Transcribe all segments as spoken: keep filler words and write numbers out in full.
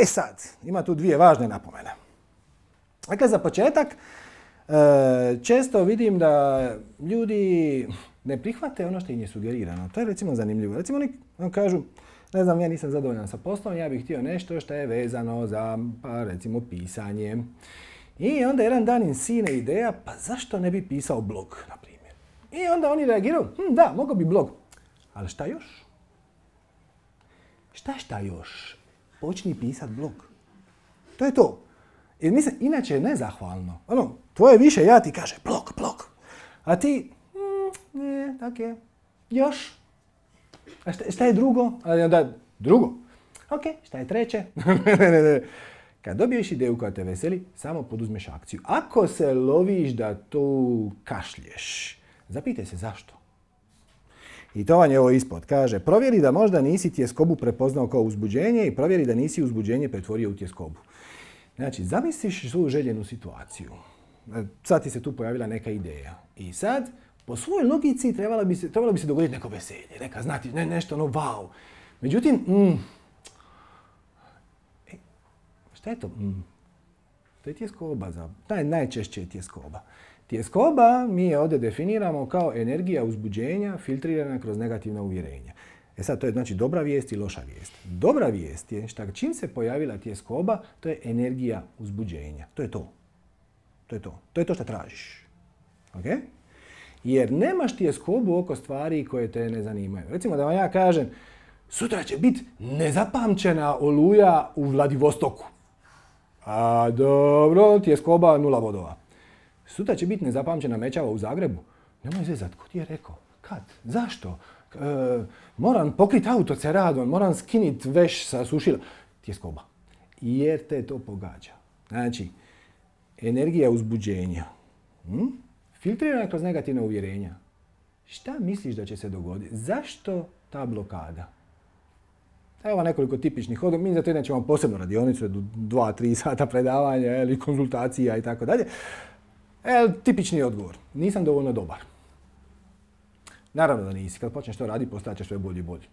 E sad, ima tu dvije važne napomene. Dakle, za početak, često vidim da ljudi ne prihvate ono što im je sugerirano. To je recimo zanimljivo. Recimo oni kažu, ne znam, ja nisam zadovoljan sa poslom, ja bih htio nešto što je vezano za, pa recimo, pisanje. I onda jedan dan im sine ideja, pa zašto ne bi pisao blog, na primjer. I onda oni reagiraju, hm, da, mogao bi blog. Ali šta još? Šta šta još? Počni pisat blog. To je to. Jer mislim, inače je nezahvalno. Ono, tvoje više ja ti kaže blog, blog. A ti, mm, nije, tako je. Još? A šta, šta je drugo? A onda, drugo. Ok, šta je treće? ne, ne, ne. Kad dobiješ ideju koja te veseli, samo poduzmeš akciju. Ako se loviš da tu kašlješ, zapitaj se zašto. I to vam je ovo ispod. Kaže, provjeri da možda nisi tjeskobu prepoznao kao uzbuđenje i provjeri da nisi uzbuđenje pretvorio u tjeskobu. Znači, zamisliš svoju željenu situaciju. Sad ti se tu pojavila neka ideja. I sad, po svojoj logici, trebalo bi se, trebalo bi se dogoditi neko veselje, neka znati, ne, nešto ono wow. Međutim, mm, e, šta je to? Mm, to je tjeskoba. Za, naj, najčešće je tjeskoba. Tjeskoba mi je ovdje definiramo kao energija uzbuđenja filtrirana kroz negativna uvjerenja. E sad, to je znači dobra vijest i loša vijest. Dobra vijest je što čim se pojavila tjeskoba, to je energija uzbuđenja. To je to. To je to. To je to što tražiš. Okay? Jer nemaš tjeskobu oko stvari koje te ne zanimaju. Recimo da vam ja kažem, sutra će biti nezapamćena oluja u Vladivostoku. A dobro, tjeskoba nula bodova. Sutra će biti nezapamćena mećava u Zagrebu. Nemoj zezat, ko ti je rekao? Kad? Zašto? E, moram pokriti auto ceradom, moram skiniti veš sa sušila. Tjeskoba. Jer te to pogađa. Znači, energija uzbuđenja. Hm? Filtrirana kroz negativne uvjerenja. Šta misliš da će se dogoditi? Zašto ta blokada? Evo nekoliko tipičnih odgovora. Mi za to nećemo posebno radionicu, dva, tri sata predavanja ili konzultacija i tako dalje. E, tipični odgovor. Nisam dovoljno dobar. Naravno da nisi. Kad počneš to raditi, postat ćeš sve bolji i bolji.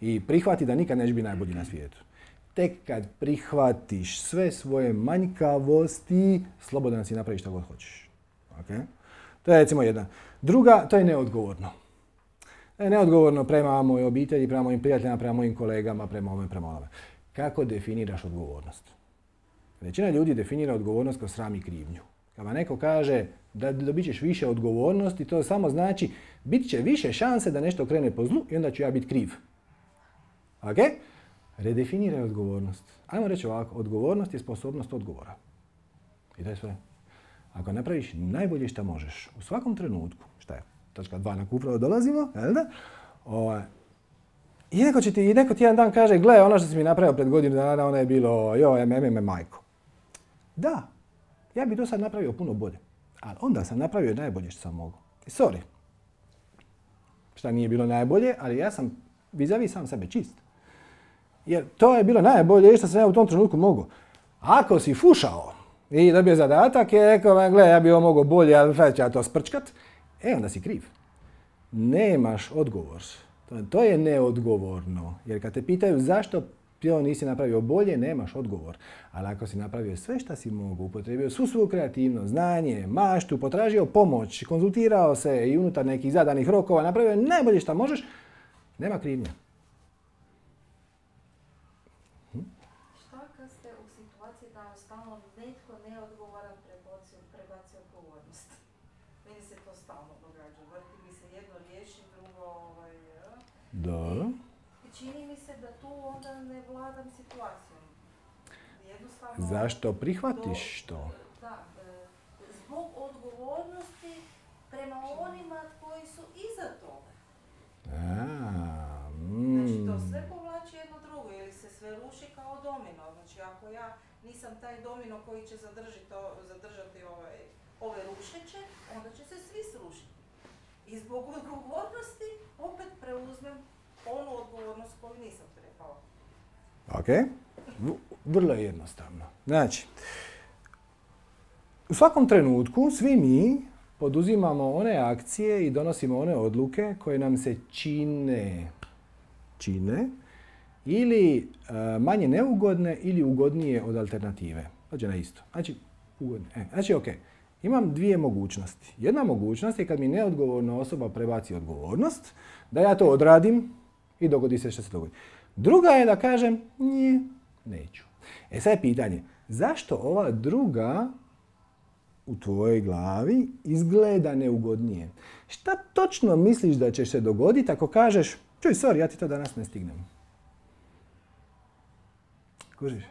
I prihvati da nikad neće biti najbolji na svijetu. Tek kad prihvatiš sve svoje manjkavosti, slobodan si napraviš što god hoćeš. Okay? To je recimo jedna. Druga, to je neodgovorno. To je neodgovorno prema mojoj obitelji, prema mojim prijateljima, prema mojim kolegama, prema ovome, prema onome. Kako definiraš odgovornost? Većina ljudi definira odgovornost kroz sram i krivnju. Kad vam neko kaže da dobit ćeš više odgovornosti, to samo znači bit će više šanse da nešto krene po zlu i onda ću ja biti kriv. Ok? Redefiniraj odgovornost. Ajmo reći ovako, odgovornost je sposobnost odgovora. I to je sve. Ako napraviš najbolje što možeš, u svakom trenutku, šta je, točka dva na upravo dolazimo, jel da? O, I neko, će ti, i neko ti jedan dan kaže, gle, ono što si mi napravio pred godinu dana, ono je bilo, joj, me, me, me, majko. Da, ja bih to sad napravio puno bolje. Ali onda sam napravio najbolje što sam mogao. I sorry. Šta nije bilo najbolje, ali ja sam vis-a-vis sam sebe čist. Jer to je bilo najbolje što sam ja u tom trenutku mogao. Ako si fušao i dobio zadatak i rekao, gle, ja bih ovo mogao bolje, ali sad ću ja to sprčkat, e, onda si kriv. Nemaš odgovor. To, to je neodgovorno. Jer kad te pitaju zašto to nisi napravio bolje, nemaš odgovor. Ali ako si napravio sve što si mogao, upotrijebio svu svoju kreativnost, znanje, maštu, potražio pomoć, konzultirao se i unutar nekih zadanih rokova, napravio najbolje što možeš, nema krivnje. Hm? Šta kad ste u situaciji da vam stalno netko neodgovoran prebaci, prebaci odgovornost? Meni se to stalno događa. Vrti mi se jedno riješi, drugo... Ovaj, Dobro. Čini mi se da tu onda ne vladam situacijom. Jednostavno... Zašto prihvatiš to? Da, zbog odgovornosti prema onima koji su iza toga. A, mm. Znači to sve povlači jedno drugo ili se sve ruši kao domino. Znači ako ja nisam taj domino koji će zadržati, zadržati ovaj, ove rušeće, onda će se svi srušiti. I zbog odgovornosti opet preuzmem onu odgovornost koju nisam trebala. Ok. Vrlo je jednostavno. Znači, u svakom trenutku svi mi poduzimamo one akcije i donosimo one odluke koje nam se čine, čine ili uh, manje neugodne ili ugodnije od alternative. Dođe na isto. Znači, ugodne. E, znači, ok. Imam dvije mogućnosti. Jedna mogućnost je kad mi neodgovorna osoba prebaci odgovornost, da ja to odradim i dogodi se što se dogodi. Druga je da kažem, nije, neću. E sad je pitanje, zašto ova druga u tvojoj glavi izgleda neugodnije? Šta točno misliš da će se dogoditi ako kažeš, čuj, sorry, ja ti to danas ne stignem? Kužiš?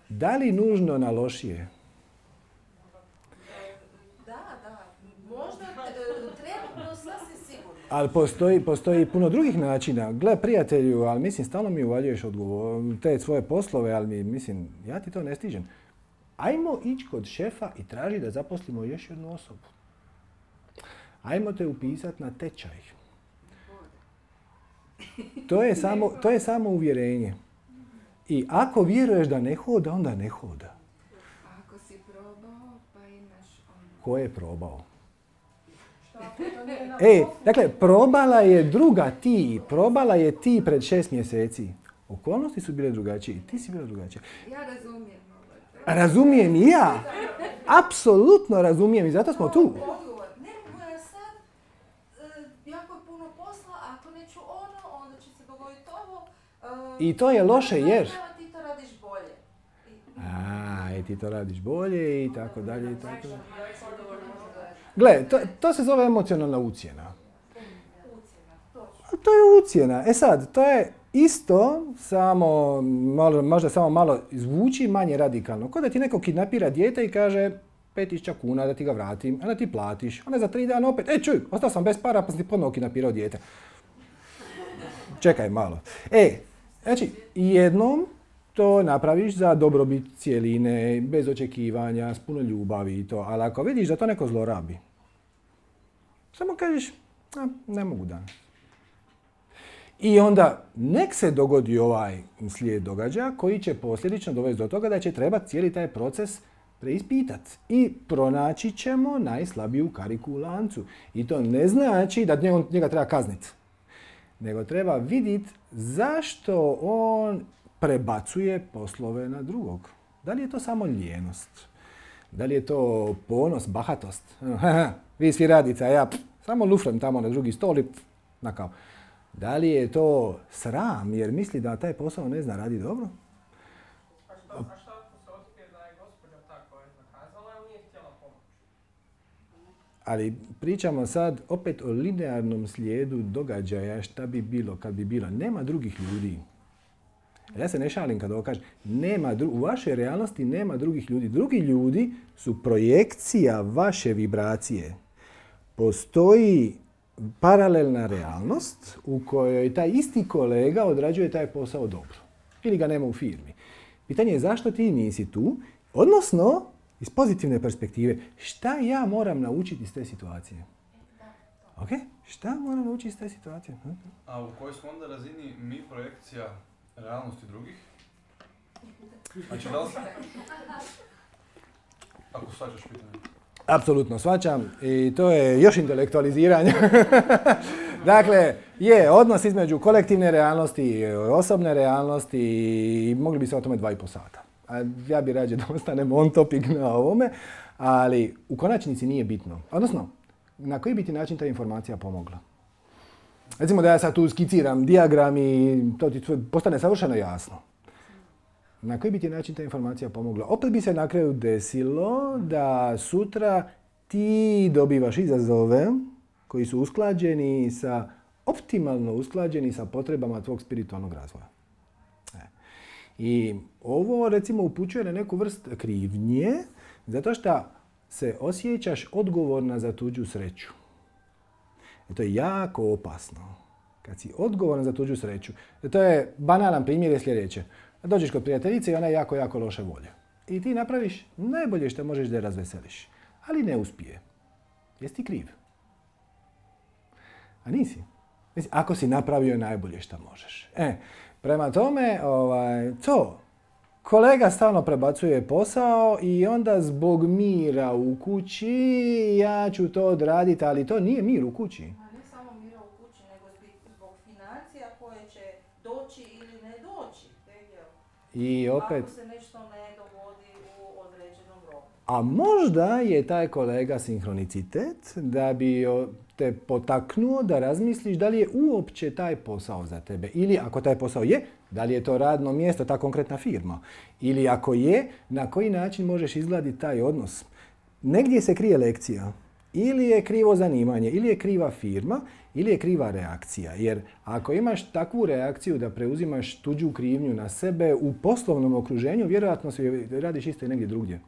Da li nužno na lošije? Da, da. Možda trenutno sasvim sigurno. Ali postoji, postoji puno drugih načina. Gle, prijatelju, ali mislim, stalno mi uvaljuješ odgovor, te svoje poslove, ali mi, mislim, ja ti to ne stižem. Ajmo ići kod šefa i traži da zaposlimo još jednu osobu. Ajmo te upisati na tečaj. To je samo, to je samo uvjerenje. I ako vjeruješ da ne hoda, onda ne hoda. Ako si probao, pa imaš ono. Ko je probao? E, dakle, probala je druga ti. Probala je ti pred šest mjeseci. Okolnosti su bile drugačije. Ti si bila drugačija. Ja razumijem ovo. Razumijem i ja. Apsolutno razumijem i zato smo tu. Odgovor. Ne, moja sad, e, jako je puno posla, ako neću ono, onda će se dogoditi ovo. E, I to je loše jer... Ti to radiš bolje. I, A, i ti to radiš bolje i tako dalje i tako dalje. Gle, to, to se zove emocionalna ucjena. ucjena, točno. A to je ucjena. E sad, to je isto, samo, malo, možda samo malo zvuči manje radikalno. Ko da ti neko kidnapira dijete i kaže pet tisuća kuna da ti ga vratim, a da ti platiš. Onda za tri dana opet, e čuj, ostao sam bez para pa sam ti ponovno kidnapirao dijete. Čekaj malo. E, znači, jednom to napraviš za dobrobit cijeline, bez očekivanja, s puno ljubavi i to. Ali ako vidiš da to neko zlorabi, samo kažeš, a, ne mogu danas. I onda nek se dogodi ovaj slijed događaja koji će posljedično dovesti do toga da će trebati cijeli taj proces preispitati. I pronaći ćemo najslabiju kariku u lancu. I to ne znači da njega, njega treba kazniti. Nego treba vidjeti zašto on prebacuje poslove na drugog. Da li je to samo lijenost? Da li je to ponos, bahatost? Vi svi radite, a ja pff, samo lufrem tamo na drugi stol i pff, na kao. Da li je to sram jer misli da taj posao ne zna radi dobro? A šta, a šta ako se otkrije da je gospođa ta koja je zakazala ili nije htjela pomoć? Ali pričamo sad opet o linearnom slijedu događaja šta bi bilo kad bi bilo. Nema drugih ljudi. Ja se ne šalim kad ovo kažem. Nema dru- u vašoj realnosti nema drugih ljudi. Drugi ljudi su projekcija vaše vibracije. Postoji paralelna realnost u kojoj taj isti kolega odrađuje taj posao dobro. Ili ga nema u firmi. Pitanje je zašto ti nisi tu, odnosno iz pozitivne perspektive, šta ja moram naučiti iz te situacije? Ok? Šta moram naučiti iz te situacije? A u kojoj smo onda razini mi projekcija realnosti drugih? Znači da li... Ako shvaćaš pitanje. Apsolutno shvaćam i to je još intelektualiziranje. Dakle, je odnos između kolektivne realnosti i osobne realnosti i mogli bi se o tome dva i po sata. A ja bi rađe da ostanem on topic na ovome, ali u konačnici nije bitno. Odnosno, na koji bi ti način ta informacija pomogla? Recimo da ja sad tu skiciram dijagram i to ti postane savršeno jasno. Na koji bi ti način ta informacija pomogla? Opet bi se na kraju desilo da sutra ti dobivaš izazove koji su usklađeni sa, optimalno usklađeni sa potrebama tvog spiritualnog razvoja. E. I ovo recimo upućuje na neku vrst krivnje zato što se osjećaš odgovorna za tuđu sreću. I to je jako opasno. Kad si odgovoran za tuđu sreću. To je banalan primjer je sljedeće. Dođeš kod prijateljice i ona je jako, jako loše volje. I ti napraviš najbolje što možeš da je razveseliš. Ali ne uspije. Jesi ti kriv? A nisi. Mislim, ako si napravio najbolje što možeš. E, prema tome, ovaj, to. Kolega stalno prebacuje posao i onda zbog mira u kući ja ću to odraditi, ali to nije mir u kući. A ne samo mira u kući, nego zbog financija I opet... Ako se nešto ne dogodi u određenom roku. A možda je taj kolega sinhronicitet da bi te potaknuo da razmisliš da li je uopće taj posao za tebe. Ili ako taj posao je, da li je to radno mjesto, ta konkretna firma. Ili ako je, na koji način možeš izgladiti taj odnos. Negdje se krije lekcija. Ili je krivo zanimanje, ili je kriva firma, ili je kriva reakcija. Jer ako imaš takvu reakciju da preuzimaš tuđu krivnju na sebe u poslovnom okruženju, vjerojatno se radiš isto i negdje drugdje.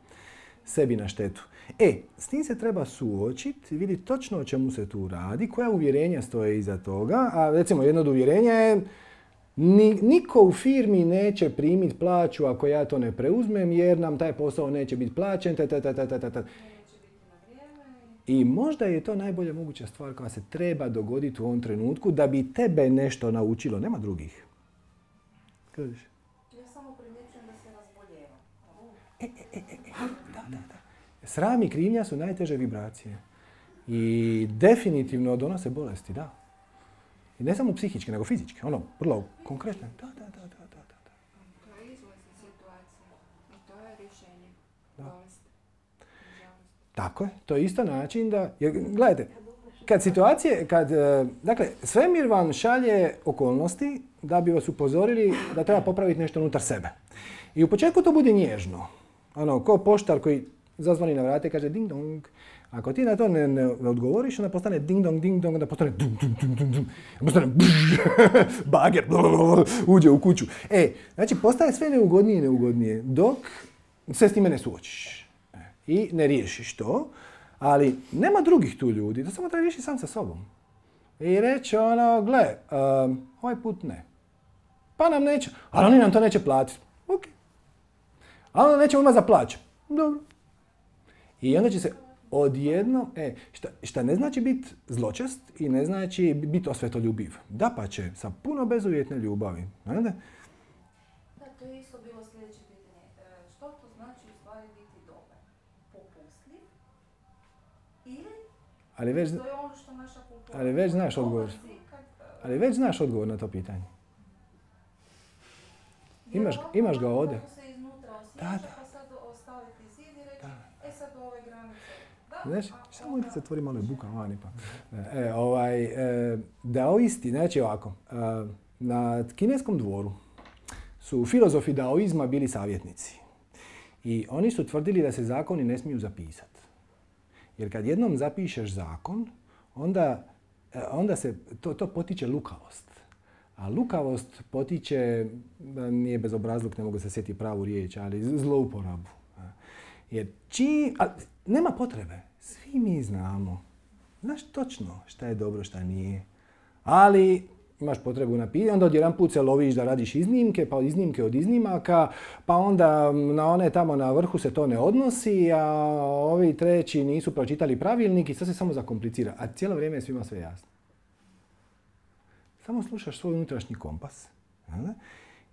Sebi na štetu. E, s tim se treba suočiti i vidjeti točno o čemu se tu radi, koja uvjerenja stoje iza toga. A recimo jedno od uvjerenja je ni, niko u firmi neće primiti plaću ako ja to ne preuzmem jer nam taj posao neće biti plaćen. Ta, ta, ta, ta, ta, ta. I možda je to najbolja moguća stvar koja se treba dogoditi u ovom trenutku da bi tebe nešto naučilo. Nema drugih. Kažeš? Ja samo primjećujem da se razboljevam. E, e, e, e, da, da, da. Sram i krivnja su najteže vibracije. I definitivno donose bolesti, da. I ne samo psihičke, nego fizičke. Ono, vrlo konkretne. Da, da, da, da, da, da. To je izlaz iz situacije. I to je rješenje. Da. Bolest. Tako je. To je isto način da... Jer, gledajte, kad situacije, kad... Dakle, svemir vam šalje okolnosti da bi vas upozorili da treba popraviti nešto unutar sebe. I u početku to bude nježno. Ono, ko poštar koji zazvoni na vrate i kaže ding dong. Ako ti na to ne, ne odgovoriš, onda postane ding dong, ding dong, onda postane dum, dum, dum, dum, dum. Postane brž, bager, blablabla, uđe u kuću. E, znači postaje sve neugodnije i neugodnije dok se s time ne suočiš. E, I ne riješiš to, ali nema drugih tu ljudi, to samo treba riješiti sam sa sobom. I reći ono, gle, um, ovaj put ne. Pa nam neće, ali oni nam to neće platiti. Ok. A onda nećemo imati za plaću. Dobro. I onda će se odjedno, e, šta, šta ne znači biti zločest i ne znači biti osvetoljubiv. Dapače, sa puno bezuvjetne ljubavi. Znate? Da, to je isto bilo sljedeće pitanje. E, što to znači u stvari biti dobar? Popustljiv? Ili? Ali već, To je ono što naša kultura... ali već znaš odgovor. Dobar si kad, e, Ali već znaš odgovor na to pitanje. Imaš, imaš ga ovdje. Kako se iznutra osjeća, Da, da. pa sad ostaviti zid i reći, Da. e sad do ove granice. Da, Znaš, a samo onda- da se tvori malo je buka vani pa. E, ovaj, e, daoisti, znači ovako, e, na kineskom dvoru su filozofi daoizma bili savjetnici. I oni su tvrdili da se zakoni ne smiju zapisati. Jer kad jednom zapišeš zakon, onda, e, onda se to, to potiče lukavost. A lukavost potiče, nije bezobrazluk, ne mogu se sjetiti pravu riječ, ali zlouporabu. Jer či, a, nema potrebe, svi mi znamo. Znaš točno šta je dobro, šta nije. Ali imaš potrebu napisati, onda odjedan put se loviš da radiš iznimke, pa iznimke od iznimaka, pa onda na one tamo na vrhu se to ne odnosi, a ovi treći nisu pročitali pravilnik i sve se samo zakomplicira. A cijelo vrijeme je svima sve jasno. Samo slušaš svoj unutrašnji kompas. Jel?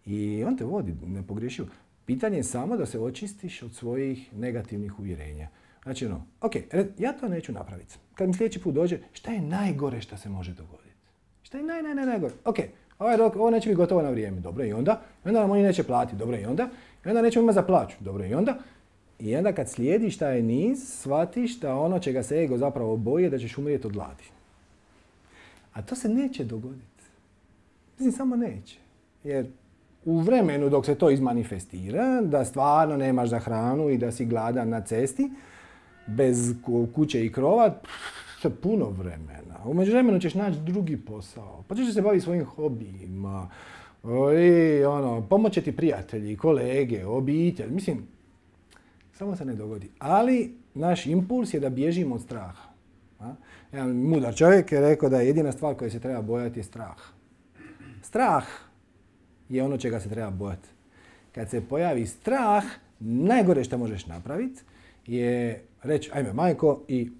I on te vodi, ne pogriješio. Pitanje je samo da se očistiš od svojih negativnih uvjerenja. Znači ono, ok, ja to neću napraviti. Kad mi sljedeći put dođe, šta je najgore što se može dogoditi? Šta je naj, naj, naj, najgore? Ok, ovaj rok, ovo neće biti gotovo na vrijeme. Dobro, i onda? I onda nam oni neće platiti. Dobro, i onda? I onda nećemo imati za plaću. Dobro, i onda? I onda kad slijediš taj niz, shvatiš da ono čega se ego zapravo boji je da ćeš umrijeti od gladi. A to se neće dogoditi. Mislim, samo neće. Jer u vremenu dok se to izmanifestira, da stvarno nemaš za hranu i da si gladan na cesti, bez kuće i krova, se puno vremena. U međuvremenu ćeš naći drugi posao. Pa ćeš se baviti svojim hobijima. I ono, pomoće ti prijatelji, kolege, obitelj. Mislim, samo se ne dogodi. Ali naš impuls je da bježimo od straha. A? Jedan mudar čovjek je rekao da je jedina stvar koja se treba bojati je strah. Strah je ono čega se treba bojati. Kad se pojavi strah, najgore što možeš napraviti je reći ajme majko i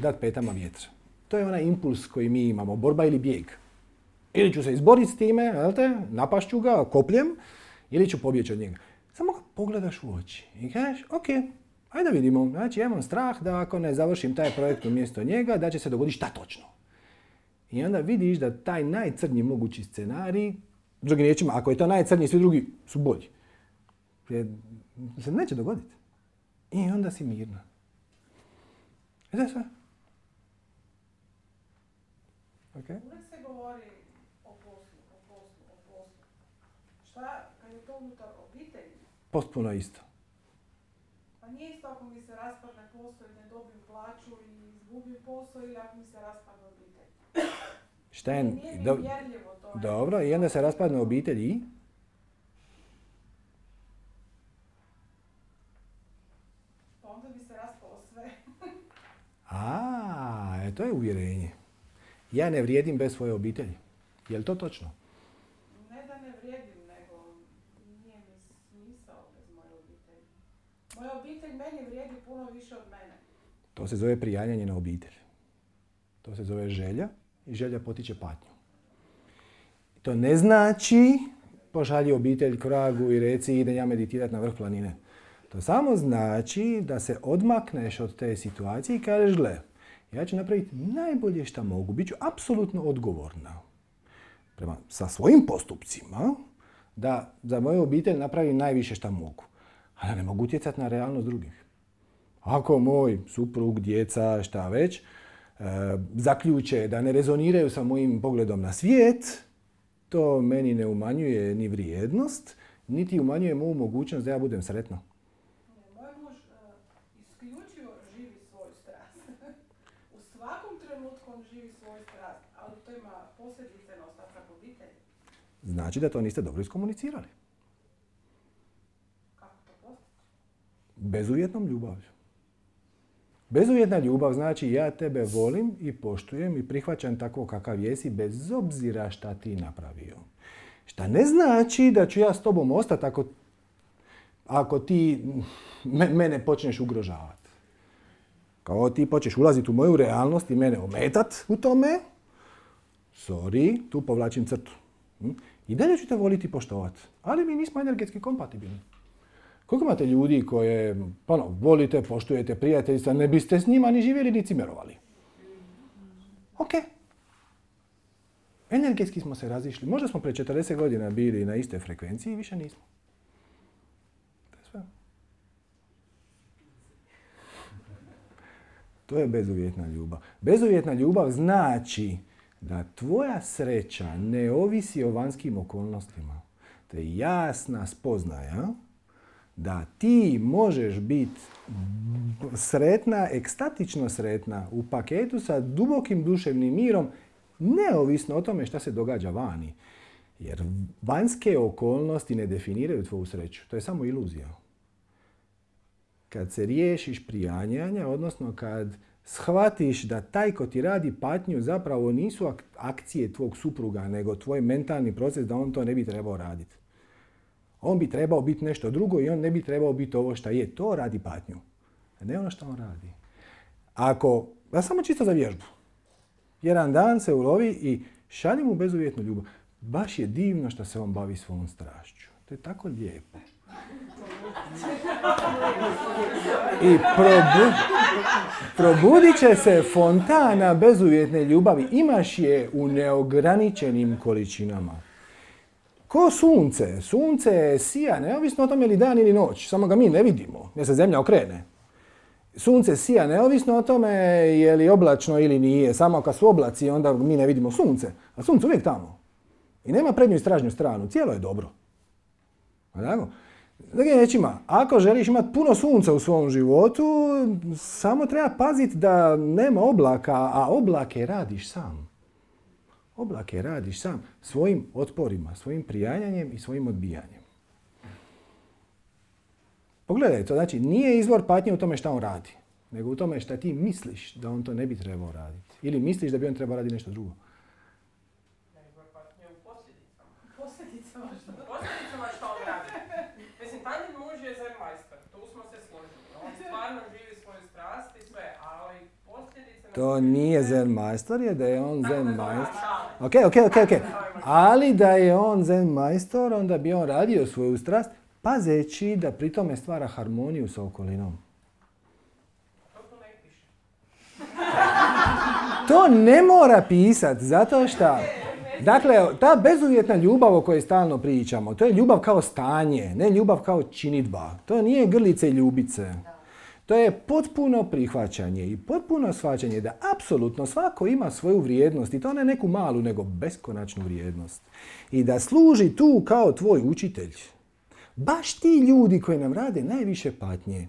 dati petama vjetra. To je onaj impuls koji mi imamo, borba ili bijeg. Ili ću se izboriti s time, jel te, napašću ga kopljem, ili ću pobjeći od njega. Samo ga pogledaš u oči i kažeš ok, ajde vidimo. Znači ja imam strah da ako ne završim taj projekt umjesto njega, da će se dogoditi šta točno. I onda vidiš da taj najcrnji mogući scenarij, drugim riječima, ako je to najcrnji, svi drugi su bolji. Jer se neće dogoditi. I onda si mirna. I to je sve. Okay. Uvijek se govori o poslu, o poslu, o poslu. Šta kad je to unutar obitelji? Potpuno isto. Pa nije isto ako mi se raspadne posao i ne dobijem plaću i izgubim posao ili ako mi se raspadne obitelj. Šta je... Nije mi Do, mjerljivo to. dobro, i onda se raspadne obitelj i? Pa onda bi se raspalo sve. A, e, to je uvjerenje. Ja ne vrijedim bez svoje obitelji. Je li to točno? Ne da ne vrijedim, nego nije mi smisao bez moje obitelji. Moja obitelj meni vrijedi puno više od mene. To se zove prijanjanje na obitelj. To se zove želja i želja potiče patnju. To ne znači pošalji obitelj k vragu i reci idem ja meditirati na vrh planine. To samo znači da se odmakneš od te situacije i kažeš gle, ja ću napraviti najbolje što mogu, bit ću apsolutno odgovorna prema, sa svojim postupcima da za moju obitelj napravim najviše što mogu. A ja ne mogu utjecati na realnost drugih. Ako moj suprug, djeca, šta već, e, zaključe da ne rezoniraju sa mojim pogledom na svijet, to meni ne umanjuje ni vrijednost, niti umanjuje moju mogućnost da ja budem sretna. Moj muž uh, isključivo živi svoju strast. U svakom trenutku on živi svoju strast, ali to ima posljedice na ostatak obitelji. Znači da to niste dobro iskomunicirali. Kako to postići? Bezuvjetnom ljubavlju. Bezuvjetna ljubav znači ja tebe volim i poštujem i prihvaćam tako kakav jesi bez obzira šta ti napravio. Šta ne znači da ću ja s tobom ostati ako, ako ti me, mene počneš ugrožavati. Kao ti počneš ulaziti u moju realnost i mene ometat u tome, sorry, tu povlačim crtu. I dalje ću te voliti i poštovati, ali mi nismo energetski kompatibilni. Koliko imate ljudi koje ono, volite, poštujete, prijateljstva, ne biste s njima ni živjeli ni cimerovali? Ok. Energetski smo se razišli. Možda smo pre četrdeset godina bili na istoj frekvenciji i više nismo. To je sve. To je bezuvjetna ljubav. Bezuvjetna ljubav znači da tvoja sreća ne ovisi o vanjskim okolnostima. To je jasna spoznaja da ti možeš biti sretna, ekstatično sretna u paketu sa dubokim duševnim mirom, neovisno o tome šta se događa vani. Jer vanjske okolnosti ne definiraju tvoju sreću. To je samo iluzija. Kad se riješiš prijanjanja, odnosno kad shvatiš da taj ko ti radi patnju zapravo nisu akcije tvog supruga, nego tvoj mentalni proces da on to ne bi trebao raditi. On bi trebao biti nešto drugo i on ne bi trebao biti ovo što je. To radi patnju. A ne ono što on radi. Ako, ja samo čisto za vježbu. Jedan dan se ulovi i šalji mu bezuvjetnu ljubav. Baš je divno što se on bavi svojom strašću. To je tako lijepo. I probu, probudit će se fontana bezuvjetne ljubavi. Imaš je u neograničenim količinama. Ko sunce. Sunce sija, neovisno o tome je li dan ili noć. Samo ga mi ne vidimo, jer se zemlja okrene. Sunce sija, neovisno o tome je li oblačno ili nije. Samo kad su oblaci, onda mi ne vidimo sunce. A sunce uvijek tamo. I nema prednju i stražnju stranu. Cijelo je dobro. Tako? Drugim riječima, ako želiš imati puno sunca u svom životu, samo treba paziti da nema oblaka, a oblake radiš sam. Oblake radiš sam svojim otporima, svojim prijanjanjem i svojim odbijanjem. Pogledaj to, znači nije izvor patnje u tome šta on radi, nego u tome šta ti misliš da on to ne bi trebao raditi. Ili misliš da bi on trebao raditi nešto drugo. Izvor patnje u posljedicama. Posljedicama što? Posljedicama što on radi. Mislim, Tanjin muž je zen majstor, tu smo se složili. On stvarno živi svoju strast i sve, ali posljedice... To nije zen majstor, je da je on zen majstor. Ok, ok, ok, ok. Ali da je on zen majstor, onda bi on radio svoju strast, pazeći da pri tome stvara harmoniju sa okolinom. To tu ne piše. To ne mora pisat, zato što... Ne Dakle, ta bezuvjetna ljubav o kojoj stalno pričamo, to je ljubav kao stanje, ne ljubav kao činidba. To nije grlice i ljubice. To je potpuno prihvaćanje i potpuno shvaćanje da apsolutno svako ima svoju vrijednost i to ne neku malu, nego beskonačnu vrijednost. I da služi tu kao tvoj učitelj. Baš ti ljudi koji nam rade najviše patnje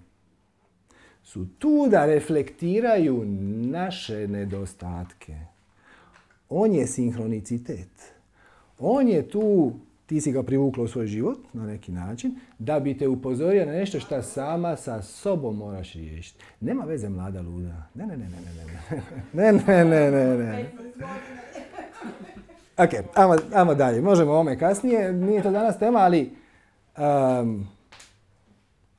su tu da reflektiraju naše nedostatke. On je sinhronicitet. On je tu, ti si ga privukla u svoj život na neki način, da bi te upozorio na nešto što sama sa sobom moraš riješiti. Nema veze mlada luda. Ne, ne, ne, ne, ne, ne, ne, ne, ne, ne. Ok, ajmo, ajmo dalje. Možemo o ovome kasnije. Nije to danas tema, ali um,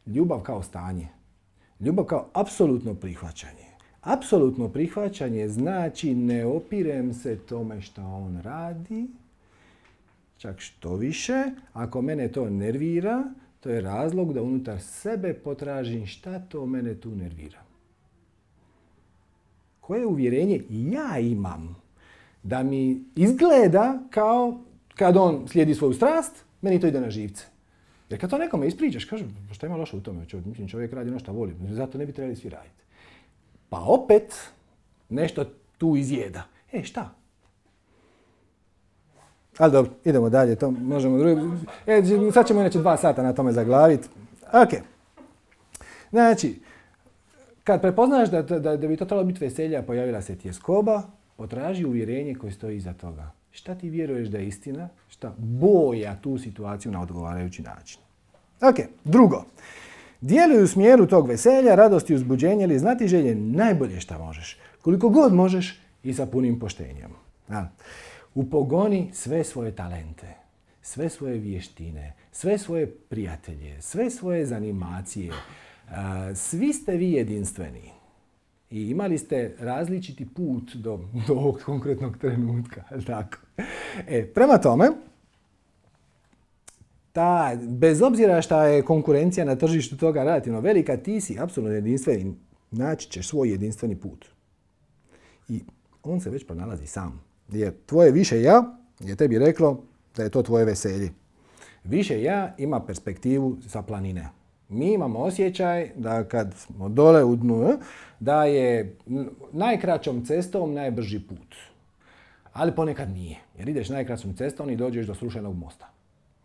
ljubav kao stanje. Ljubav kao apsolutno prihvaćanje. Apsolutno prihvaćanje znači ne opirem se tome što on radi, čak što više, ako mene to nervira, to je razlog da unutar sebe potražim šta to mene tu nervira. Koje uvjerenje ja imam da mi izgleda kao kad on slijedi svoju strast, meni to ide na živce. Jer kad to nekome ispričaš, kažu, šta ima loše u tome? Mislim, čovjek radi ono što voli, zato ne bi trebali svi raditi. Pa opet nešto tu izjeda. E, šta? Ali dobro, idemo dalje, to možemo drugi... E, sad ćemo inače dva sata na tome zaglaviti. Ok. Znači, kad prepoznaš da, da, da bi to trebalo biti veselje, a pojavila se tjeskoba, potraži uvjerenje koje stoji iza toga. Šta ti vjeruješ da je istina? Šta boja tu situaciju na odgovarajući način? Ok, drugo. Djeluj u smjeru tog veselja, radosti, uzbuđenja ili znatiželje najbolje šta možeš. Koliko god možeš i sa punim poštenjem. A, upogoni sve svoje talente, sve svoje vještine, sve svoje prijatelje, sve svoje zanimacije. A, svi ste vi jedinstveni. I imali ste različiti put do, do ovog konkretnog trenutka. Tako. E, prema tome, ta, bez obzira šta je konkurencija na tržištu toga relativno velika, ti si apsolutno jedinstveni. Naći ćeš svoj jedinstveni put. I on se već pronalazi sam. Jer tvoje više ja je tebi reklo da je to tvoje veselje. Više ja ima perspektivu sa planine. Mi imamo osjećaj da kad smo dole u dnu, da je najkraćom cestom najbrži put. Ali ponekad nije. Jer ideš najkraćom cestom i dođeš do srušenog mosta.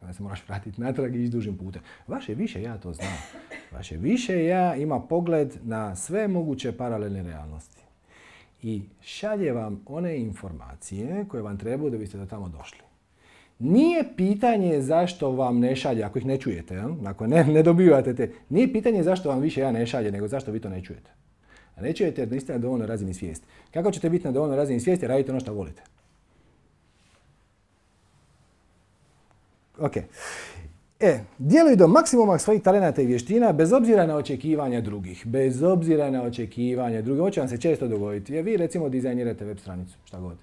Onda se moraš vratiti natrag i ići dužim putem. Vaše više ja to znam. Vaše više ja ima pogled na sve moguće paralelne realnosti. I šalje vam one informacije koje vam trebaju da biste do tamo došli. Nije pitanje zašto vam ne šalje, ako ih ne čujete, ja? Ako ne, ne dobivate te, nije pitanje zašto vam više ja ne šalje, nego zašto vi to ne čujete. A ne čujete jer niste na dovoljnoj razini svijesti. Kako ćete biti na dovoljnoj razini svijesti? Radite ono što volite. Ok. E, djeluj do maksimuma svojih talenata i vještina bez obzira na očekivanja drugih. Bez obzira na očekivanja drugih. Ovo će vam se često dogoditi. Jer vi recimo dizajnirate web stranicu, šta god.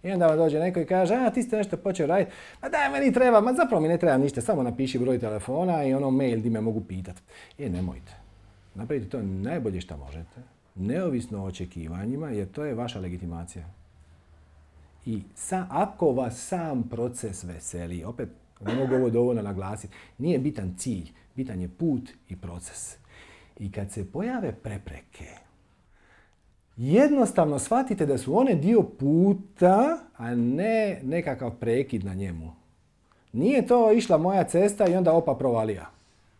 I onda vam dođe neko i kaže, a ti ste nešto počeo raditi, ma daj meni treba, ma zapravo mi ne treba ništa, samo napiši broj telefona i ono mail di me mogu pitati. E, nemojte. Napravite to najbolje što možete, neovisno o očekivanjima, jer to je vaša legitimacija. I sa, ako vas sam proces veseli, opet ne mogu ovo dovoljno naglasiti, nije bitan cilj, bitan je put i proces. I kad se pojave prepreke, jednostavno shvatite da su one dio puta, a ne nekakav prekid na njemu. Nije to išla moja cesta i onda opa provalija.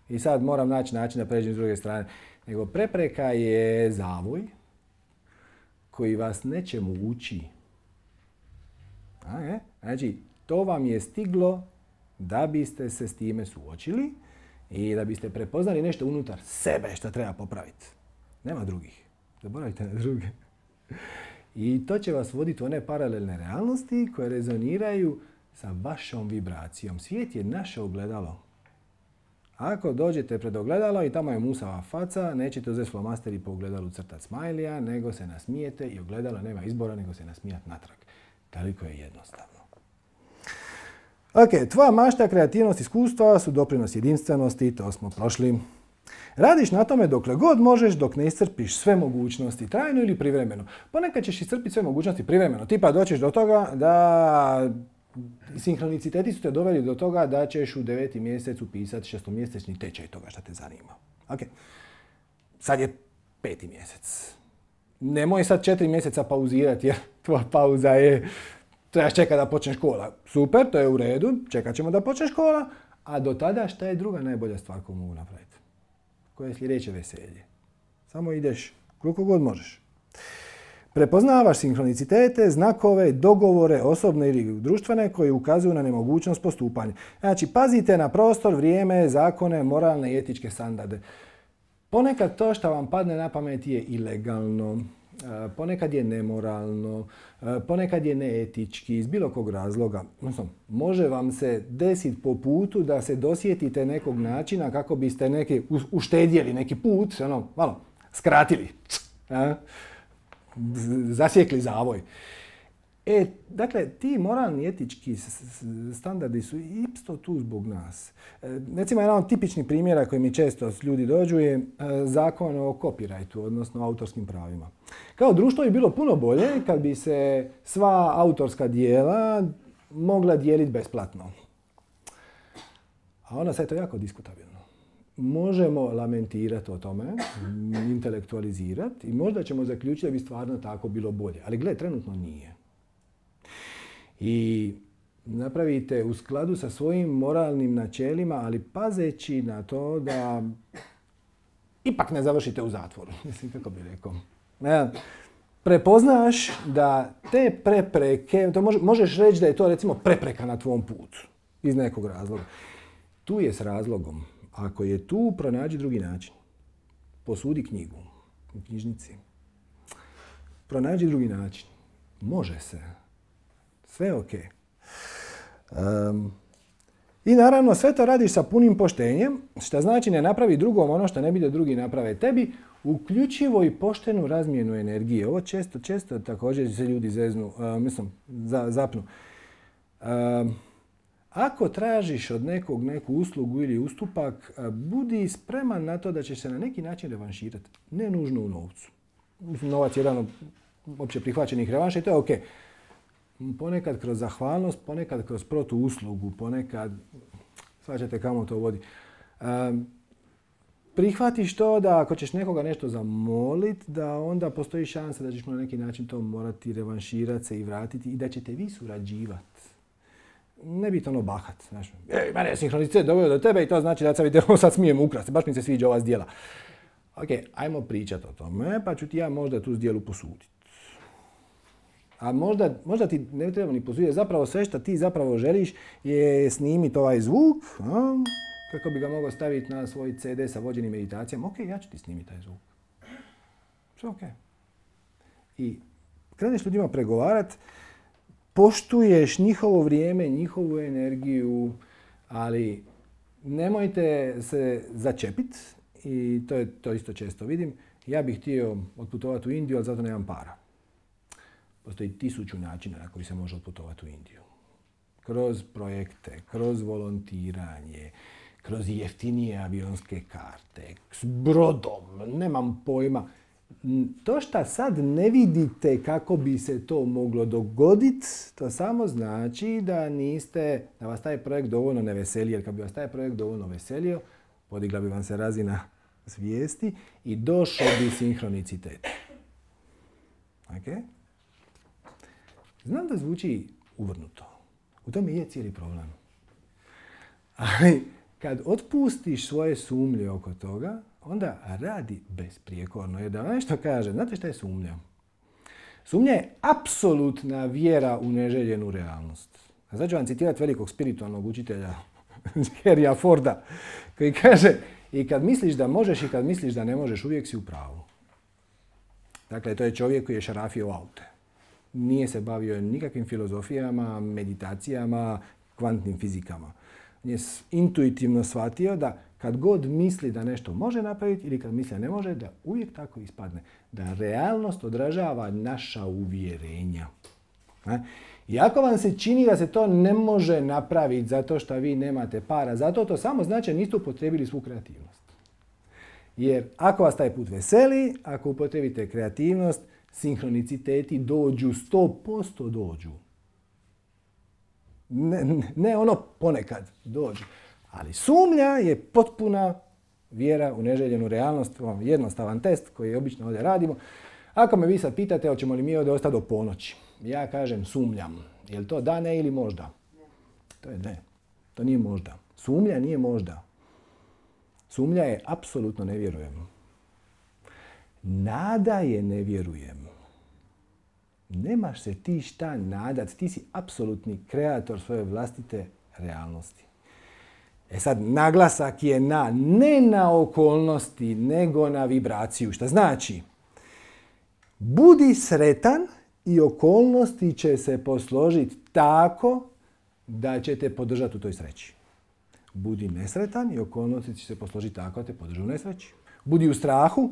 I sad moram naći način da pređem s druge strane. Nego prepreka je zavoj koji vas nečemu uči. A, je? Znači, to vam je stiglo da biste se s time suočili i da biste prepoznali nešto unutar sebe što treba popraviti. Nema drugih. Zaboravite na druge. I to će vas voditi u one paralelne realnosti koje rezoniraju sa vašom vibracijom. Svijet je naše ogledalo. Ako dođete pred ogledalo i tamo je musava faca, nećete uzeti flomaster i po ogledalu crtati smajlija, nego se nasmijete i ogledalo nema izbora nego se nasmijati natrag. Toliko je jednostavno. Ok, tvoja mašta, kreativnost, iskustva su doprinos jedinstvenosti, to smo prošli. Radiš na tome dokle god možeš dok ne iscrpiš sve mogućnosti, trajno ili privremeno. Ponekad ćeš iscrpiti sve mogućnosti privremeno. Tipa doćeš do toga da Sinhroniciteti su te doveli do toga da ćeš u deveti mjesec upisati šestomjesečni tečaj toga što te zanima. Ok. Sad je peti mjesec. Nemoj sad četiri mjeseca pauzirati jer tvoja pauza je trebaš čekati da počne škola. Super, to je u redu, čekat ćemo da počne škola, a do tada šta je druga najbolja stvar koju mogu napraviti? Koje je sljedeće veselje? Samo ideš koliko god možeš. Prepoznavaš sinhronicitete, znakove, dogovore, osobne ili društvene koji ukazuju na nemogućnost postupanja. Znači, pazite na prostor, vrijeme, zakone, moralne i etičke standarde. Ponekad to što vam padne na pamet je ilegalno, ponekad je nemoralno, ponekad je neetički, iz bilo kog razloga. Može vam se desiti po putu da se dosjetite nekog načina kako biste neki uštedjeli neki put, ono, malo, skratili, zasjekli zavoj. E, dakle, ti moralni etički standardi su isto tu zbog nas. E, recimo, jedan od tipičnih primjera koji mi često ljudi dođu je e, zakon o copyrightu, odnosno autorskim pravima. Kao društvo bi bilo puno bolje kad bi se sva autorska djela mogla dijeliti besplatno. A onda sad je to jako diskutabilno. Možemo lamentirati o tome, intelektualizirati i možda ćemo zaključiti da bi stvarno tako bilo bolje. Ali gle, trenutno nije. I napravite u skladu sa svojim moralnim načelima, ali pazeći na to da ipak ne završite u zatvoru. Mislim, kako bi rekao. Ja, prepoznaš da te prepreke, to možeš reći da je to recimo prepreka na tvom putu iz nekog razloga. Tu je s razlogom. Ako je tu, pronađi drugi način. Posudi knjigu u knjižnici. Pronađi drugi način. Može se. Sve je ok. Um, I naravno sve to radiš sa punim poštenjem, što znači ne napravi drugom ono što ne bi da drugi naprave tebi, uključivo i poštenu razmjenu energije. Ovo često, često također se ljudi zeznu, uh, mislim, za, zapnu. Um, Ako tražiš od nekog neku uslugu ili ustupak, budi spreman na to da ćeš se na neki način revanširati. Ne nužno u novcu. Novac je jedan od opće prihvaćenih revanša i to je ok. Ponekad kroz zahvalnost, ponekad kroz protuuslugu, ponekad, shvaćate kamo to vodi. Um, prihvatiš to da ako ćeš nekoga nešto zamoliti, da onda postoji šansa da ćeš na neki način to morati revanširati se i vratiti i da ćete vi surađivati. Ne biti ono bahat. Znaš, ej, mene je sinhronicitet doveo do tebe i to znači da sad vidite, sad smijem ukrasti, baš mi se sviđa ova zdjela. Ok, ajmo pričati o tome, pa ću ti ja možda tu zdjelu posuditi. A možda, možda ti ne treba ni posuditi, zapravo sve što ti zapravo želiš je snimiti ovaj zvuk, a, kako bi ga mogao staviti na svoj ce de sa vođenim meditacijama. Ok, ja ću ti snimiti taj zvuk. Sve ok. I kreneš ljudima pregovarati, poštuješ njihovo vrijeme, njihovu energiju, ali nemojte se začepiti i to, je, to isto često vidim. Ja bih htio otputovati u Indiju, ali zato nemam para. Postoji tisuću načina na koji se može otputovati u Indiju. Kroz projekte, kroz volontiranje, kroz jeftinije avionske karte, s brodom, nemam pojma. To što sad ne vidite kako bi se to moglo dogoditi, to samo znači da niste, da vas taj projekt dovoljno ne veseli, jer kad bi vas taj projekt dovoljno veselio, podigla bi vam se razina svijesti i došao bi sinhronicitet. Okay? Znam da zvuči uvrnuto. U tome je cijeli problem. Ali kad otpustiš svoje sumnje oko toga, onda radi besprijekorno. Jer da vam nešto kaže, znate šta je sumnja? Sumnja je apsolutna vjera u neželjenu realnost. A sad ću vam citirati velikog spiritualnog učitelja Henrya Forda, koji kaže i kad misliš da možeš i kad misliš da ne možeš, uvijek si u pravu. Dakle, to je čovjek koji je šarafio aute. Nije se bavio nikakvim filozofijama, meditacijama, kvantnim fizikama. On je intuitivno shvatio da kad god misli da nešto može napraviti ili kad misli da ne može, da uvijek tako ispadne. Da realnost odražava naša uvjerenja. I ako vam se čini da se to ne može napraviti zato što vi nemate para, zato to samo znači da niste upotrijebili svu kreativnost. Jer ako vas taj put veseli, ako upotrijebite kreativnost, sinhroniciteti dođu, sto posto dođu. Ne, ne ono ponekad dođe. Ali sumnja je potpuna vjera u neželjenu realnost, jednostavan test koji obično ovdje radimo. Ako me vi sad pitate hoćemo li mi ovdje ostati do ponoći, ja kažem sumnjam. Je li to da, ne ili možda? To je ne. To nije možda. Sumnja nije možda. Sumnja je apsolutno ne vjerujem. Nada je ne vjerujem. Nemaš se ti šta nadat. Ti si apsolutni kreator svoje vlastite realnosti. E sad, naglasak je na, ne na okolnosti, nego na vibraciju. Šta znači? Budi sretan i okolnosti će se posložiti tako da će te podržati u toj sreći. Budi nesretan i okolnosti će se posložiti tako da te podrži u nesreći. Budi u strahu,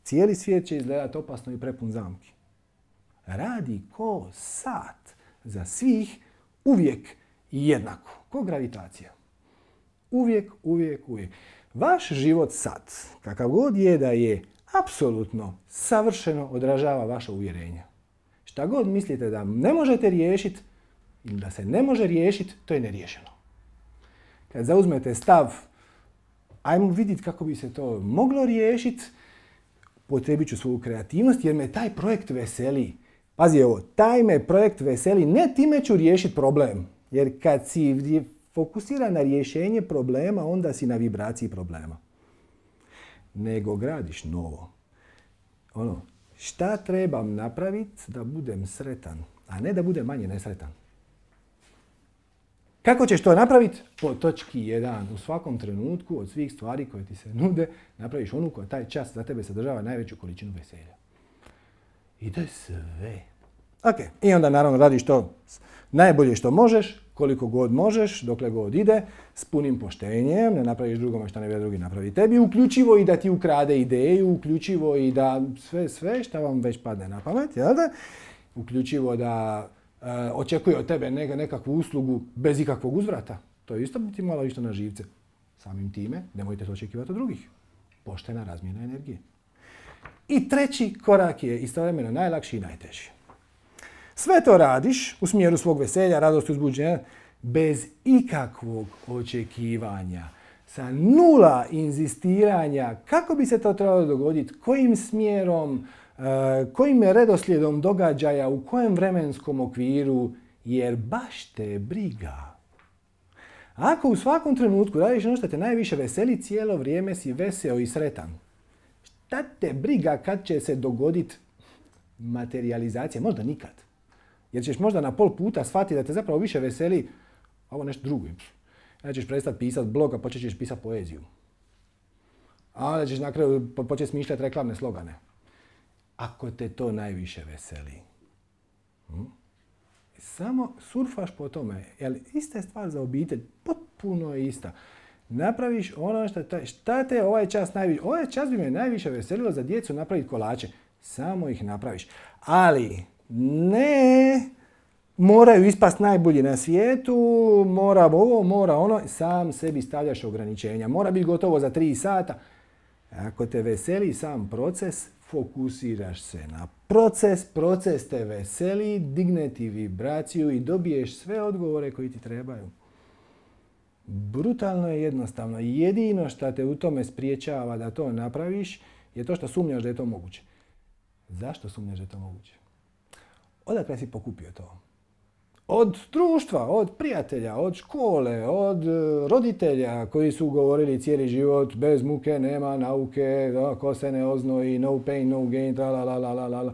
cijeli svijet će izgledati opasno i prepun zamki. Radi ko sat za svih, uvijek i jednako. Ko gravitacija. Uvijek, uvijek, uvijek. Vaš život sad, kakav god je da je, apsolutno, savršeno odražava vaše uvjerenja. Šta god mislite da ne možete riješiti ili da se ne može riješiti, to je neriješeno. Kad zauzmete stav, ajmo vidjeti kako bi se to moglo riješiti, potrebit ću svoju kreativnost jer me taj projekt veseli. Pazi ovo, taj me projekt veseli, ne time ću riješiti problem. Jer kad si fokusiran na rješenje problema, onda si na vibraciji problema. Nego gradiš novo. Ono, šta trebam napraviti da budem sretan, a ne da budem manje nesretan? Kako ćeš to napraviti? Po točki jedan. U svakom trenutku od svih stvari koje ti se nude, napraviš onu koja taj čas za tebe sadržava najveću količinu veselja. Ide sve. Ok, i onda naravno radiš to najbolje što možeš, koliko god možeš, dokle god ide, s punim poštenjem, ne napraviš drugome što ne bi drugi napravi tebi, uključivo i da ti ukrade ideju, uključivo i da sve, sve što vam već padne na pamet, jel da? Uključivo da e, očekuje od tebe neka, nekakvu uslugu bez ikakvog uzvrata. To je isto biti malo isto na živce. Samim time, nemojte to očekivati od drugih. Poštena razmjena energije. I treći korak je istovremeno najlakši i najteži. Sve to radiš u smjeru svog veselja, radosti, uzbuđenja, bez ikakvog očekivanja, sa nula inzistiranja kako bi se to trebalo dogoditi, kojim smjerom, kojim redoslijedom događaja, u kojem vremenskom okviru, jer baš te briga. Ako u svakom trenutku radiš ono što te najviše veseli, cijelo vrijeme si veseo i sretan. Šta te briga kad će se dogoditi materijalizacija? Možda nikad. Jer ćeš možda na pol puta shvatiti da te zapravo više veseli ovo nešto drugo. Ja ćeš prestati pisati blog, a počet ćeš pisati poeziju. A onda ćeš na kraju početi smišljati reklamne slogane. Ako te to najviše veseli. Hm? Samo surfaš po tome. Jer ista je stvar za obitelj. Potpuno je ista. Napraviš ono što te, šta te ovaj čas najviše... Ovaj čas bi me najviše veselilo za djecu napraviti kolače. Samo ih napraviš. Ali ne moraju ispast najbolji na svijetu, mora ovo, mora ono. Sam sebi stavljaš ograničenja. Mora biti gotovo za tri sata. Ako te veseli sam proces, fokusiraš se na proces, proces te veseli, digne ti vibraciju i dobiješ sve odgovore koji ti trebaju. Brutalno je jednostavno. Jedino što te u tome spriječava da to napraviš je to što sumnjaš da je to moguće. Zašto sumnjaš da je to moguće? Odakle si pokupio to? Od društva, od prijatelja, od škole, od roditelja koji su govorili cijeli život bez muke, nema nauke, ko se ne oznoji, no pain, no gain, tra la la la la la.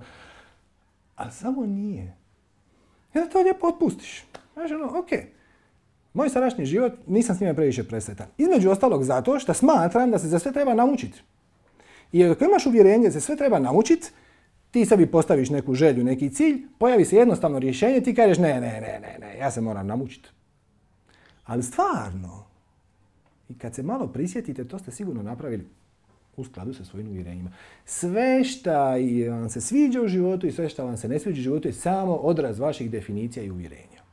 A samo nije. Jer to lijepo otpustiš. Znaš ono, ok, moj sadašnji život nisam s njime previše presretan. Između ostalog zato što smatram da se za sve treba naučiti. I ako imaš uvjerenje da se sve treba naučiti, ti sebi postaviš neku želju, neki cilj, pojavi se jednostavno rješenje, ti kažeš ne, ne, ne, ne, ne, ja se moram naučiti. Ali stvarno, i kad se malo prisjetite, to ste sigurno napravili u skladu sa svojim uvjerenjima. Sve što vam se sviđa u životu i sve što vam se ne sviđa u životu je samo odraz vaših definicija i uvjerenja.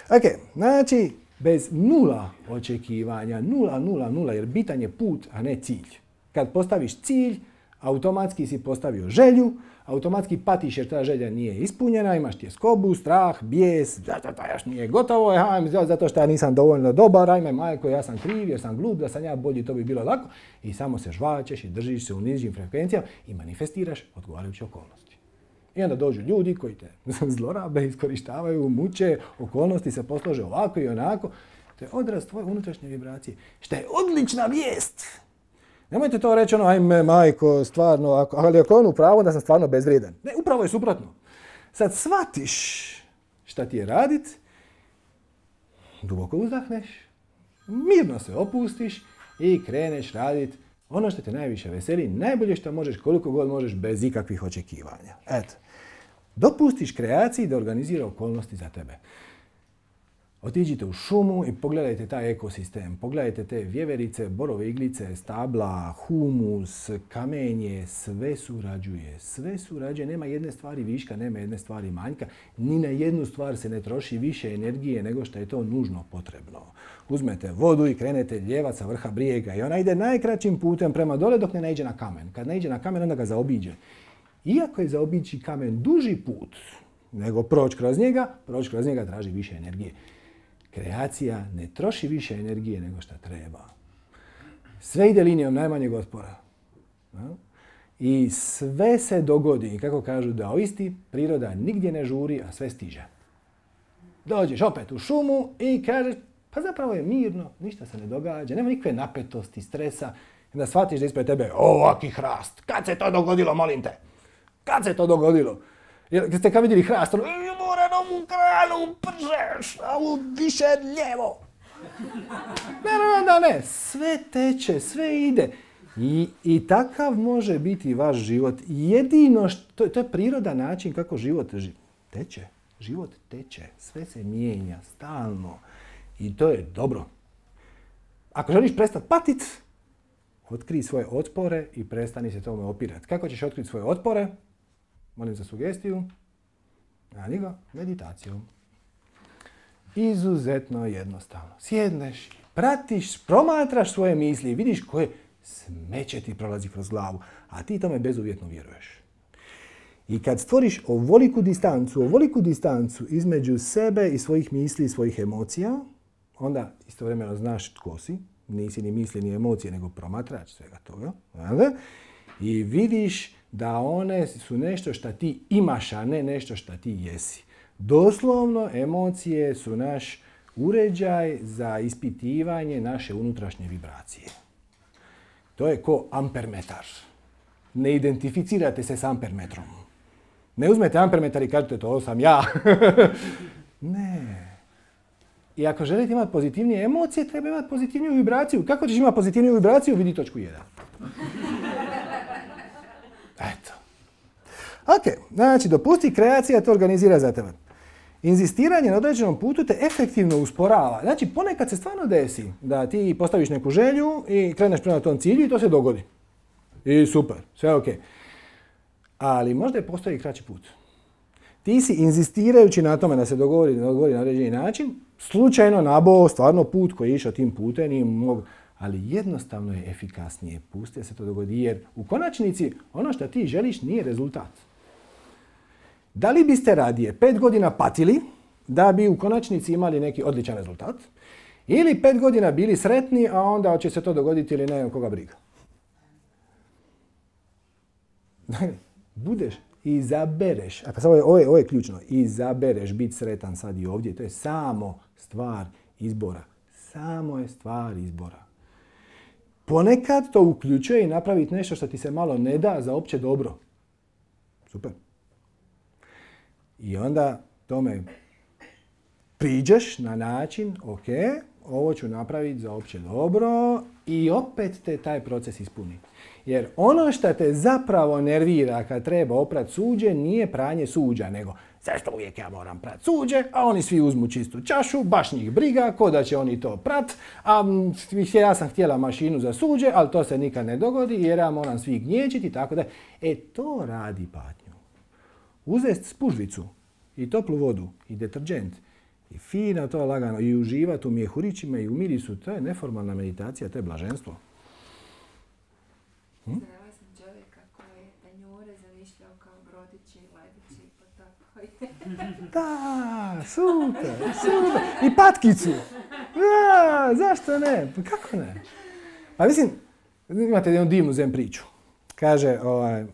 Ok, znači, bez nula očekivanja, nula, nula, nula, jer bitan je put, a ne cilj. Kad postaviš cilj, automatski si postavio želju, automatski patiš jer ta želja nije ispunjena, imaš tjeskobu, strah, bijes, zato to još nije gotovo, ajme, zato što ja nisam dovoljno dobar, ajme majko, ja sam kriv jer sam glup, da sam ja bolji, to bi bilo lako. I samo se žvačeš i držiš se u nižim frekvencijama i manifestiraš odgovarajuće okolnosti. I onda dođu ljudi koji te zlorabe, iskorištavaju, muče, okolnosti se poslože ovako i onako. To je odraz tvoje unutrašnje vibracije. Što je odlična vijest! Nemojte to reći ono, ajme majko, stvarno, ako, ali ako je on u pravu, da sam stvarno bezvrijedan. Ne, upravo je suprotno. Sad shvatiš šta ti je radit, duboko uzdahneš, mirno se opustiš i kreneš radit ono što te najviše veseli, najbolje što možeš, koliko god možeš, bez ikakvih očekivanja. Eto, dopustiš kreaciji da organizira okolnosti za tebe. Otiđite u šumu i pogledajte taj ekosistem. Pogledajte te vjeverice, borove iglice, stabla, humus, kamenje, sve surađuje. Sve surađuje, nema jedne stvari viška, nema jedne stvari manjka. Ni na jednu stvar se ne troši više energije nego što je to nužno potrebno. Uzmete vodu i krenete ljevat sa vrha brijega i ona ide najkraćim putem prema dole dok ne naiđe na kamen. Kad naiđe na kamen, onda ga zaobiđe. Iako je zaobići kamen duži put nego proći kroz njega, proći kroz njega traži više energije. Kreacija ne troši više energije nego što treba. Sve ide linijom najmanjeg otpora. I sve se dogodi, kako kažu daoisti, priroda nigdje ne žuri, a sve stiže. Dođeš opet u šumu i kažeš, pa zapravo je mirno, ništa se ne događa, nema nikakve napetosti, stresa. I onda shvatiš da ispred tebe ovaki hrast. Kad se to dogodilo, molim te? Kad se to dogodilo? Jer kad ste kad vidjeli hrast, ono, Moranovu kranu pržeš, a u više lijevo. Ne, ne, ne, ne, sve teče, sve ide. I, i takav može biti vaš život. Jedino što, to je priroda način kako život ži, teče. Život teče, sve se mijenja, stalno. I to je dobro. Ako želiš prestati patit, otkrij svoje otpore i prestani se tome opirati. Kako ćeš otkriti svoje otpore? Molim za sugestiju. Radi ga meditacijom. Izuzetno jednostavno. Sjedneš, pratiš, promatraš svoje misli i vidiš koje smeće ti prolazi kroz glavu, a ti tome bezuvjetno vjeruješ. I kad stvoriš ovoliku distancu, ovoliku distancu između sebe i svojih misli i svojih emocija, onda istovremeno znaš tko si, nisi ni misli ni emocije, nego promatrač svega toga. I vidiš da one su nešto što ti imaš, a ne nešto što ti jesi. Doslovno, emocije su naš uređaj za ispitivanje naše unutrašnje vibracije. To je ko ampermetar. Ne identificirate se s ampermetrom. Ne uzmete ampermetar i kažete to sam ja. Ne. I ako želite imati pozitivnije emocije, treba imati pozitivniju vibraciju. Kako ćeš imati pozitivniju vibraciju? Vidi točku jedan. Eto. Ok, znači dopusti kreacija to organizira za tebe. Inzistiranje na određenom putu te efektivno usporava. Znači ponekad se stvarno desi da ti postaviš neku želju i kreneš prema tom cilju i to se dogodi. I super, sve ok. Ali možda je postoji kraći put. Ti si inzistirajući na tome da se dogovori, dogovori na određeni način, slučajno nabao stvarno put koji je išao tim putem i mogu... Ali jednostavno je efikasnije. Pusti da se to dogodi jer u konačnici ono što ti želiš nije rezultat. Da li biste radije pet godina patili da bi u konačnici imali neki odličan rezultat ili pet godina bili sretni, a onda će se to dogoditi ili ne, koga briga? Budeš, izabereš, a sad ovo je, ovo je, ovo je ključno, izabereš biti sretan sad i ovdje. To je samo stvar izbora. Samo je stvar izbora. Ponekad to uključuje i napraviti nešto što ti se malo ne da za opće dobro. Super. I onda tome priđeš na način, ok, ovo ću napraviti za opće dobro i opet te taj proces ispuni. Jer ono što te zapravo nervira kad treba oprat suđe nije pranje suđa, nego zašto uvijek ja moram prat suđe, a oni svi uzmu čistu čašu, baš njih briga, ko da će oni to prat, a ja sam htjela mašinu za suđe, ali to se nikad ne dogodi jer ja moram svi gnječiti, tako da. E to radi patnju. Uzest spužvicu i toplu vodu i deterđent i fino to lagano i uživati u mjehurićima i u mirisu, to je neformalna meditacija, to je blaženstvo. Hm? Zrela sam čovjeka koji podići ledići pa tako. Da, super, super. I patkicu. Da, zašto ne? Pa kako ne? Pa mislim, imate jednu divnu zen priču. Kaže, ovaj, uh,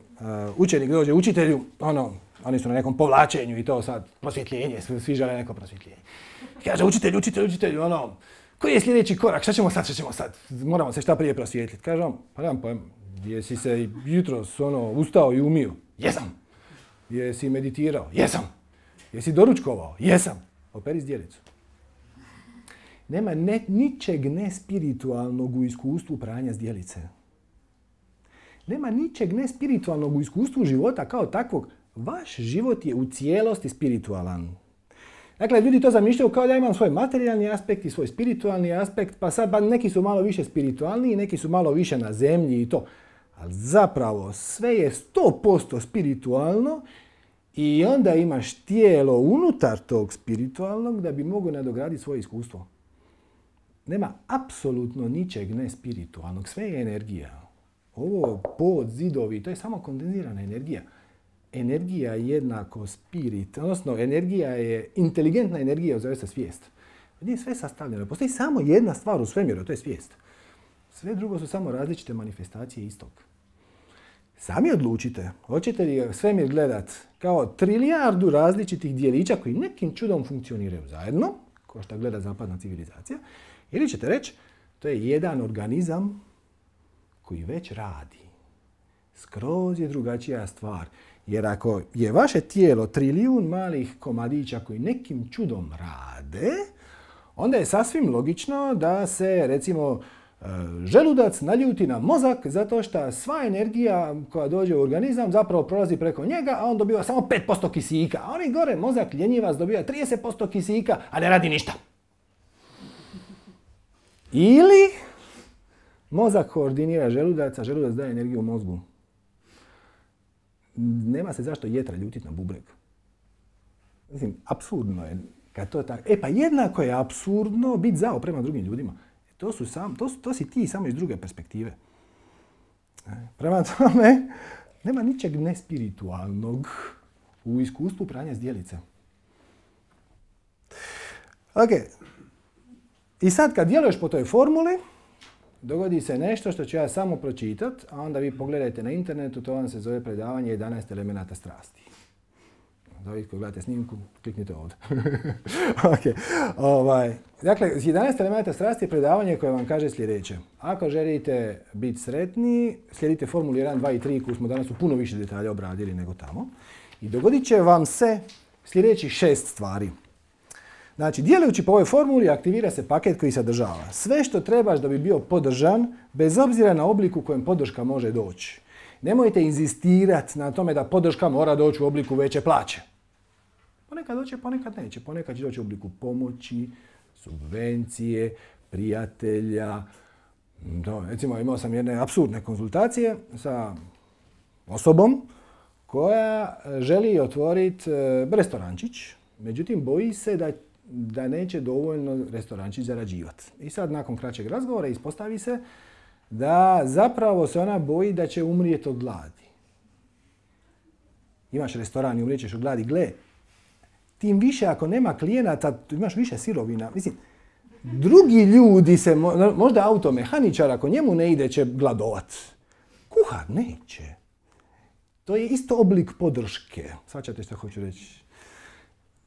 učenik dođe učitelju, ono, oni su na nekom povlačenju i to sad, prosvjetljenje, svi, svi žele neko prosvjetljenje. Kaže, učitelj, učitelj, učitelj, ono, koji je sljedeći korak, šta ćemo sad, šta ćemo sad? Moramo se šta prije prosvjetljiti. Kaže on, pa nemam pojma, jesi se jutros, ono, ustao i umio? Jesam. Jesi meditirao? Jesam. Jesi doručkovao? Jesam. Operi zdjelicu. Nema ne, ničeg nespiritualnog u iskustvu pranja zdjelice. Nema ničeg nespiritualnog u iskustvu života kao takvog. Vaš život je u cijelosti spiritualan. Dakle, ljudi to zamišljaju kao da imam svoj materijalni aspekt i svoj spiritualni aspekt, pa sad pa neki su malo više spiritualniji, neki su malo više na zemlji i to. Ali zapravo sve je sto posto spiritualno i onda imaš tijelo unutar tog spiritualnog da bi mogao nadograditi svoje iskustvo. Nema apsolutno ničeg nespiritualnog, sve je energija. Ovo pod, zidovi, to je samo kondenzirana energija. Energija je jednako spirit, odnosno energija je inteligentna energija, zove se svijest. Nije sve sastavljeno. Postoji samo jedna stvar u svemiru, to je svijest. Sve drugo su samo različite manifestacije istog. Sami odlučite, hoćete li svemir gledat kao trilijardu različitih dijelića koji nekim čudom funkcioniraju zajedno, kao što gleda zapadna civilizacija, ili ćete reći, to je jedan organizam koji već radi. Skroz je drugačija stvar. Jer ako je vaše tijelo trilijun malih komadića koji nekim čudom rade, onda je sasvim logično da se, recimo, želudac naljuti na mozak zato što sva energija koja dođe u organizam zapravo prolazi preko njega, a on dobiva samo pet posto kisika. A oni gore, mozak ljenjivac dobiva trideset posto kisika, a ne radi ništa. Ili mozak koordinira želudac, a želudac daje energiju u mozgu. Nema se zašto jetra ljutiti na bubreg. Mislim, apsurdno je kad to je tako. E pa jednako je apsurdno biti zao prema drugim ljudima. To, su sam, to, to si ti samo iz druge perspektive. Prema tome, nema ničeg nespiritualnog u iskustvu pranja zdjelice. Ok. I sad kad djeluješ po toj formuli, dogodi se nešto što ću ja samo pročitati, a onda vi pogledajte na internetu, to vam se zove predavanje jedanaest elemenata strasti. Da vi koji gledate snimku, kliknite ovdje. Okay. Ovaj. Dakle, jedanaest elemenata strasti je predavanje koje vam kaže sljedeće. Ako želite biti sretni, slijedite formulu jedan, dva i tri koju smo danas u puno više detalja obradili nego tamo. I dogodit će vam se sljedećih šest stvari. Znači, djelujući po ovoj formuli aktivira se paket koji sadržava sve što trebaš da bi bio podržan, bez obzira na oblik u kojem podrška može doći. Nemojte inzistirati na tome da podrška mora doći u obliku veće plaće. Ponekad doće, ponekad neće. Ponekad će doći u obliku pomoći, subvencije, prijatelja. To, recimo, imao sam jedne apsurdne konzultacije sa osobom koja želi otvoriti restorančić, međutim boji se da, da neće dovoljno restorančić zarađivati. I sad nakon kraćeg razgovora ispostavi se da zapravo se ona boji da će umrijeti od gladi. Imaš restoran i umrijećeš od gladi, gle, tim više ako nema klijenata, imaš više sirovina. Mislim, drugi ljudi se, možda automehaničar, ako njemu ne ide, će gladovat. Kuhar neće. To je isto oblik podrške. Svačate što hoću reći.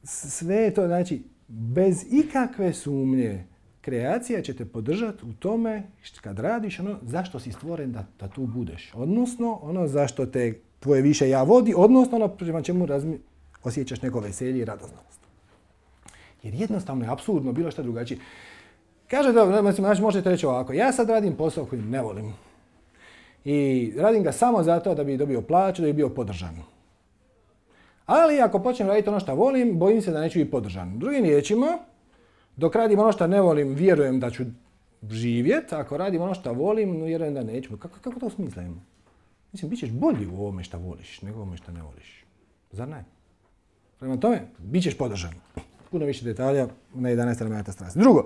Sve je to, znači, bez ikakve sumnje, kreacija će te podržati u tome kad radiš ono zašto si stvoren da, da tu budeš. Odnosno, ono zašto te tvoje više ja vodi, odnosno ono prema čemu razmi, osjećaš neko veselje i radosnost. Jer jednostavno je apsurdno bilo što drugačije. Kaže da, znači možete reći ovako, ja sad radim posao koji ne volim. I radim ga samo zato da bi dobio plaću, da bi bio podržan. Ali ako počnem raditi ono što volim, bojim se da neću biti podržan. Drugim riječima, dok radim ono što ne volim, vjerujem da ću živjeti. Ako radim ono što volim, vjerujem da neću. Kako, kako to smislim? Mislim, bit ćeš bolji u ovome što voliš, nego u ovome što ne voliš. Zar ne? Prema tome, bit ćeš podržan. Puno više detalja na jedanaest elemenata strasti. Drugo,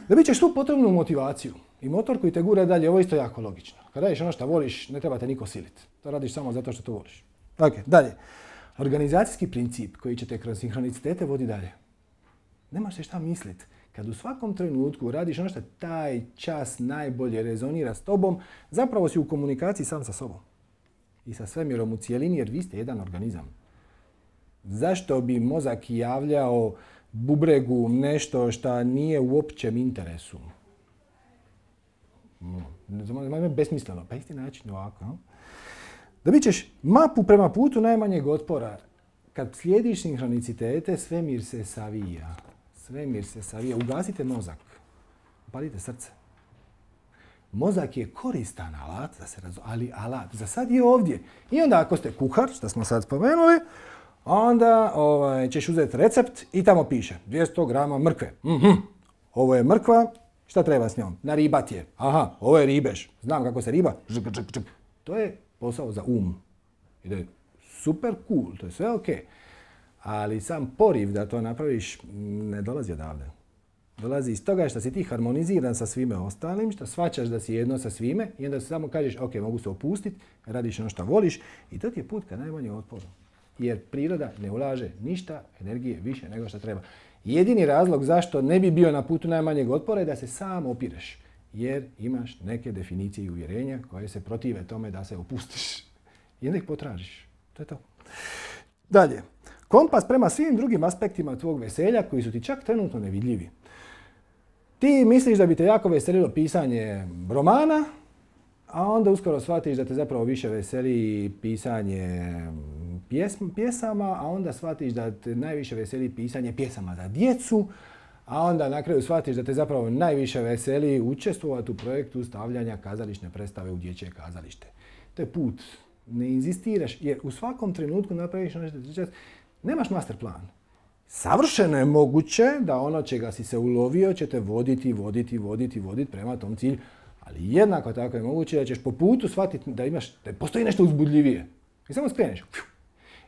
da bit ćeš tu potrebnu motivaciju. I motor koji te gura dalje, ovo je isto jako logično. Kad radiš ono što voliš, ne treba te niko siliti. To radiš samo zato što to voliš. Ok, dalje. organizacijski princip koji će te kroz sinhronicitete vodi dalje. Nemaš se šta misliti. Kad u svakom trenutku radiš ono što taj čas najbolje rezonira s tobom, zapravo si u komunikaciji sam sa sobom. I sa svemirom u cijelini, jer vi ste jedan organizam. Zašto bi mozak javljao bubregu nešto što nije u općem interesu? No, besmisleno. Pa isti način ovako. No? Dobit ćeš mapu prema putu najmanjeg otpora. Kad slijediš sinhronicitete, svemir se savija. Svemir se savija. Ugasite mozak. Upalite srce. Mozak je koristan alat, da se razum, ali alat. Za sad je ovdje. I onda ako ste kuhar, što smo sad spomenuli, onda ovaj, ćeš uzeti recept i tamo piše dvjesto grama mrkve. Mm-hmm. Ovo je mrkva, šta treba s njom? Naribat je. Aha, ovo je ribež. Znam kako se riba. Žg, žg, žg. To je posao za um. I da je super cool, to je sve ok. Ali sam poriv da to napraviš ne dolazi odavde. Dolazi iz toga što si ti harmoniziran sa svime ostalim, što shvaćaš da si jedno sa svime i onda samo kažeš ok, mogu se opustiti, radiš ono što voliš i to ti je put ka najmanjem otporu. Jer priroda ne ulaže ništa energije više nego što treba. Jedini razlog zašto ne bi bio na putu najmanjeg otpora je da se sam opireš. Jer imaš neke definicije i uvjerenja koje se protive tome da se opustiš. I onda ih potražiš. To je to. Dalje. Kompas prema svim drugim aspektima tvog veselja koji su ti čak trenutno nevidljivi. Ti misliš da bi te jako veselilo pisanje romana, a onda uskoro shvatiš da te zapravo više veseli pisanje pjesm, pjesama, a onda shvatiš da te najviše veseli pisanje pjesama za djecu, a onda na kraju shvatiš da te zapravo najviše veseli učestvovati u projektu stavljanja kazališne predstave u dječje kazalište. To je put. Ne inzistiraš, jer u svakom trenutku napraviš ono što ti čas. Nemaš master plan. Savršeno je moguće da ono čega si se ulovio će te voditi, voditi, voditi, voditi prema tom cilju. Ali jednako tako je moguće da ćeš po putu shvatiti da imaš, da postoji nešto uzbudljivije. I samo skreneš.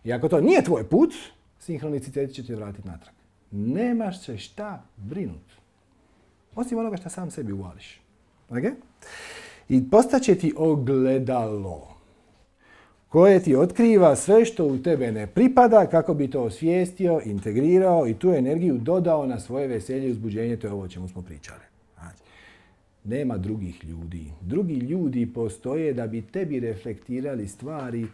I ako to nije tvoj put, sinhronicitet će te vratiti natrag. Nemaš se šta brinuti. Osim onoga što sam sebi uvališ. Okay? I postaće ti ogledalo koje ti otkriva sve što u tebe ne pripada kako bi to osvijestio, integrirao i tu energiju dodao na svoje veselje i uzbuđenje. To je ovo o čemu smo pričali. Znači, nema drugih ljudi. Drugi ljudi postoje da bi tebi reflektirali stvari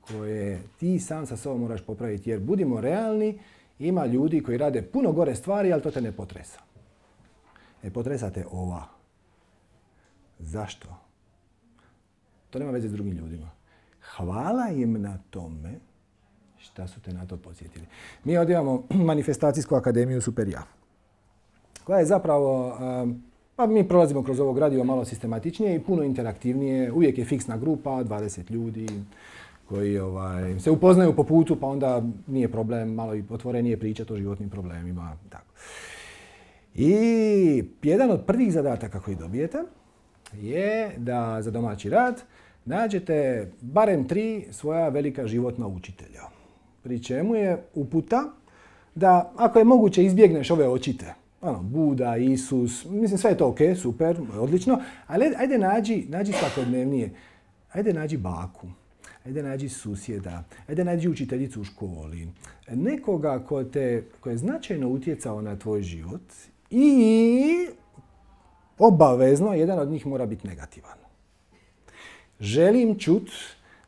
koje ti sam sa sobom moraš popraviti. Jer budimo realni, ima ljudi koji rade puno gore stvari, ali to te ne potresa. Ne potresa te ova. Zašto? To nema veze s drugim ljudima. Hvala im na tome šta su te na to podsjetili. Mi ovdje imamo manifestacijsku akademiju Super Ja, koja je zapravo, pa mi prolazimo kroz ovo gradivo malo sistematičnije i puno interaktivnije. Uvijek je fiksna grupa, dvadeset ljudi koji ovaj, se upoznaju po putu, pa onda nije problem, malo i otvorenije pričati o životnim problemima. Tako. I jedan od prvih zadataka koji dobijete je da za domaći rad nađete barem tri svoja velika životna učitelja. Pri čemu je uputa da ako je moguće izbjegneš ove očite. Ono, Buda, Isus, mislim sve je to ok, super, odlično, ali ajde nađi, nađi svakodnevnije. Ajde nađi baku, ajde nađi susjeda, ajde nađi učiteljicu u školi. Nekoga ko, te, ko je značajno utjecao na tvoj život i obavezno jedan od njih mora biti negativan. Želim čut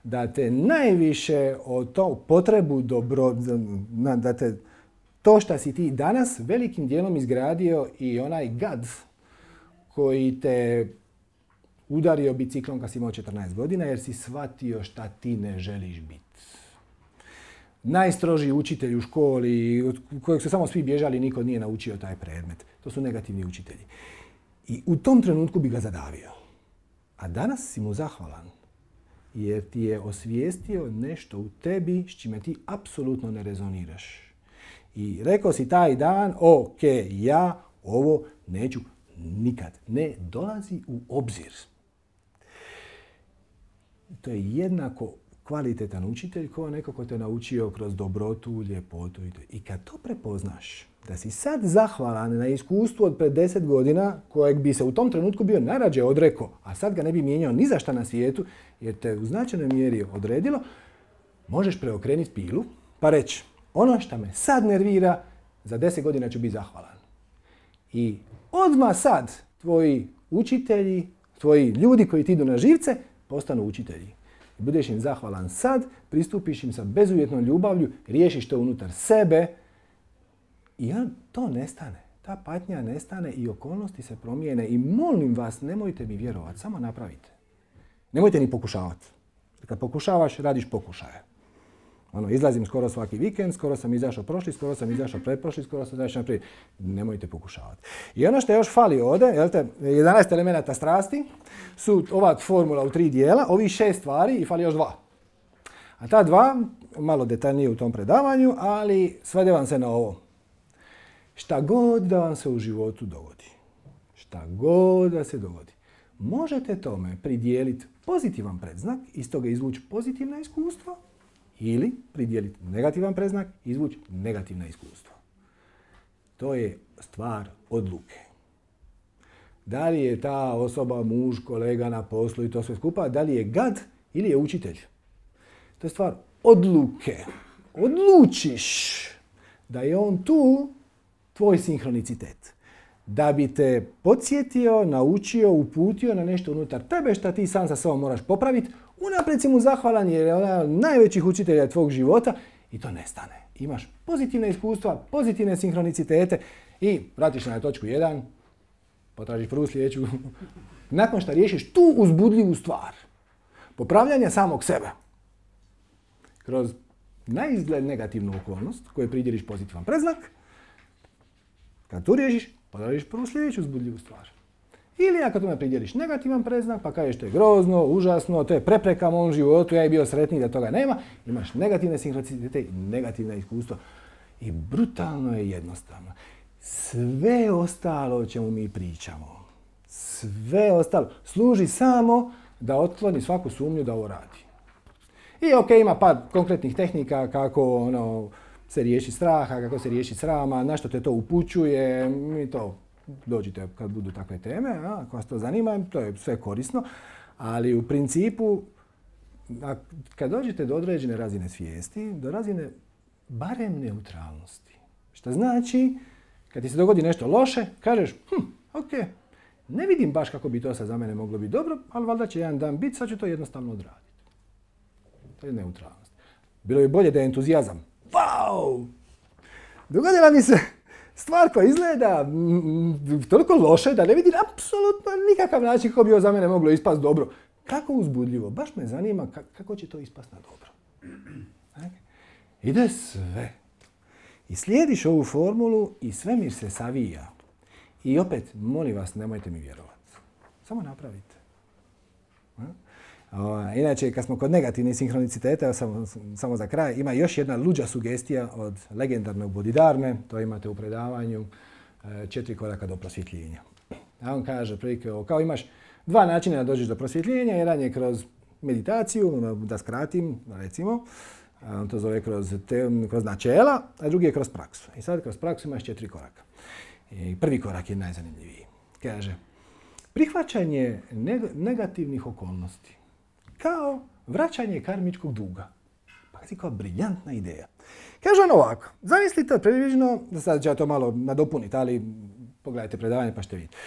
da te najviše o to potrebu dobro, da te to što si ti danas velikim dijelom izgradio i onaj gad koji te udario biciklom kad si imao četrnaest godina jer si shvatio šta ti ne želiš biti. Najstrožiji učitelj u školi kojeg su samo svi bježali, niko nije naučio taj predmet. To su negativni učitelji. I u tom trenutku bi ga zadavio. A danas si mu zahvalan jer ti je osvijestio nešto u tebi s čime ti apsolutno ne rezoniraš. I rekao si taj dan, ok, ja ovo neću nikad. Ne dolazi u obzir. To je jednako kvalitetan učitelj kao neko ko te naučio kroz dobrotu, ljepotu. I kad to prepoznaš, da si sad zahvalan na iskustvu od pred deset godina, kojeg bi se u tom trenutku bio najrađe odrekao, a sad ga ne bi mijenjao ni za šta na svijetu, jer te u značajnoj mjeri odredilo, možeš preokrenuti pilu, pa reći, ono što me sad nervira, za deset godina ću biti zahvalan. I odmah sad tvoji učitelji, tvoji ljudi koji ti idu na živce, postanu učitelji. Budeš im zahvalan sad, pristupiš im sa bezuvjetnom ljubavlju, riješiš to unutar sebe i to nestane. Ta patnja nestane i okolnosti se promijene i molim vas, nemojte mi vjerovati, samo napravite. Nemojte ni pokušavati. Kad pokušavaš, radiš pokušaje. Ono, izlazim skoro svaki vikend, skoro sam izašao prošli, skoro sam izašao pretprošli, skoro sam izašao naprijed. Nemojte pokušavati. I ono što još fali ovdje, jelte, jedanaest elemenata strasti su ova formula u tri dijela, ovih šest stvari i fali još dva. A ta dva, malo detaljnije u tom predavanju, ali svede vam se na ovo. Šta god da vam se u životu dogodi, šta god da se dogodi, možete tome pridijeliti pozitivan predznak, iz toga izvući pozitivna iskustva, ili pridijeliti negativan predznak, izvući negativna iskustva. To je stvar odluke. Da li je ta osoba muž, kolega na poslu i to sve skupa, da li je gad ili je učitelj. To je stvar odluke. Odlučiš da je on tu tvoj sinhronicitet. Da bi te podsjetio, naučio, uputio na nešto unutar tebe što ti sam sa sobom moraš popraviti. Unaprijed si mu zahvalan jer je ona najvećih učitelja tvog života i to nestane. Imaš pozitivne iskustva, pozitivne sinhronicitete i vratiš na točku jedan, potražiš prvu sljedeću. Nakon što riješiš tu uzbudljivu stvar, popravljanja samog sebe, kroz naizgled negativnu okolnost koju pridjeliš pozitivan predznak, kad tu riješiš, potražiš prvu sljedeću uzbudljivu stvar. Ili ako tome pridjeliš negativan predznak, pa kažeš to je grozno, užasno, to je prepreka mom životu, ja je bio sretniji da toga nema, imaš negativne sinhronicitete i negativna iskustva. I brutalno je jednostavno. Sve ostalo o čemu mi pričamo, sve ostalo, služi samo da otkloni svaku sumnju da ovo radi. I ok, ima par konkretnih tehnika kako ono, se riješi straha, kako se riješi srama, na što te to upućuje, mi to dođite kad budu takve teme, a, ako vas to zanima, to je sve korisno, ali u principu, a, kad dođete do određene razine svijesti, do razine barem neutralnosti, što znači, kad ti se dogodi nešto loše, kažeš, hm, ok, ne vidim baš kako bi to sad za mene moglo biti dobro, ali valjda će jedan dan biti, sad ću to jednostavno odraditi. To je neutralnost. Bilo bi bolje da je entuzijazam. Wow! Dogodila mi se stvar koja izgleda mm, toliko loše da ne vidim apsolutno nikakav način kako bi ovo za mene moglo ispast dobro. Kako uzbudljivo. Baš me zanima kako će to ispast na dobro. Ide sve. I slijediš ovu formulu i svemir se savija. I opet, molim vas, nemojte mi vjerovati. Samo napravite. O, inače, kad smo kod negativnih sinhroniciteta, samo, samo za kraj, ima još jedna luđa sugestija od legendarnog Bodhidharme, to imate u predavanju, četiri koraka do prosvjetljenja. A on kaže, prilike, kao imaš dva načina da dođeš do prosvjetljenja, jedan je kroz meditaciju, da skratim, recimo, on to zove kroz, te, kroz načela, a drugi je kroz praksu. I sad kroz praksu imaš četiri koraka. I prvi korak je najzanimljiviji. Kaže, prihvaćanje negativnih okolnosti kao vraćanje karmičkog duga. Pa si kao briljantna ideja. Kaže on ovako, zamislite približno, sad ću ja to malo nadopuniti, ali pogledajte predavanje pa ćete vidjeti.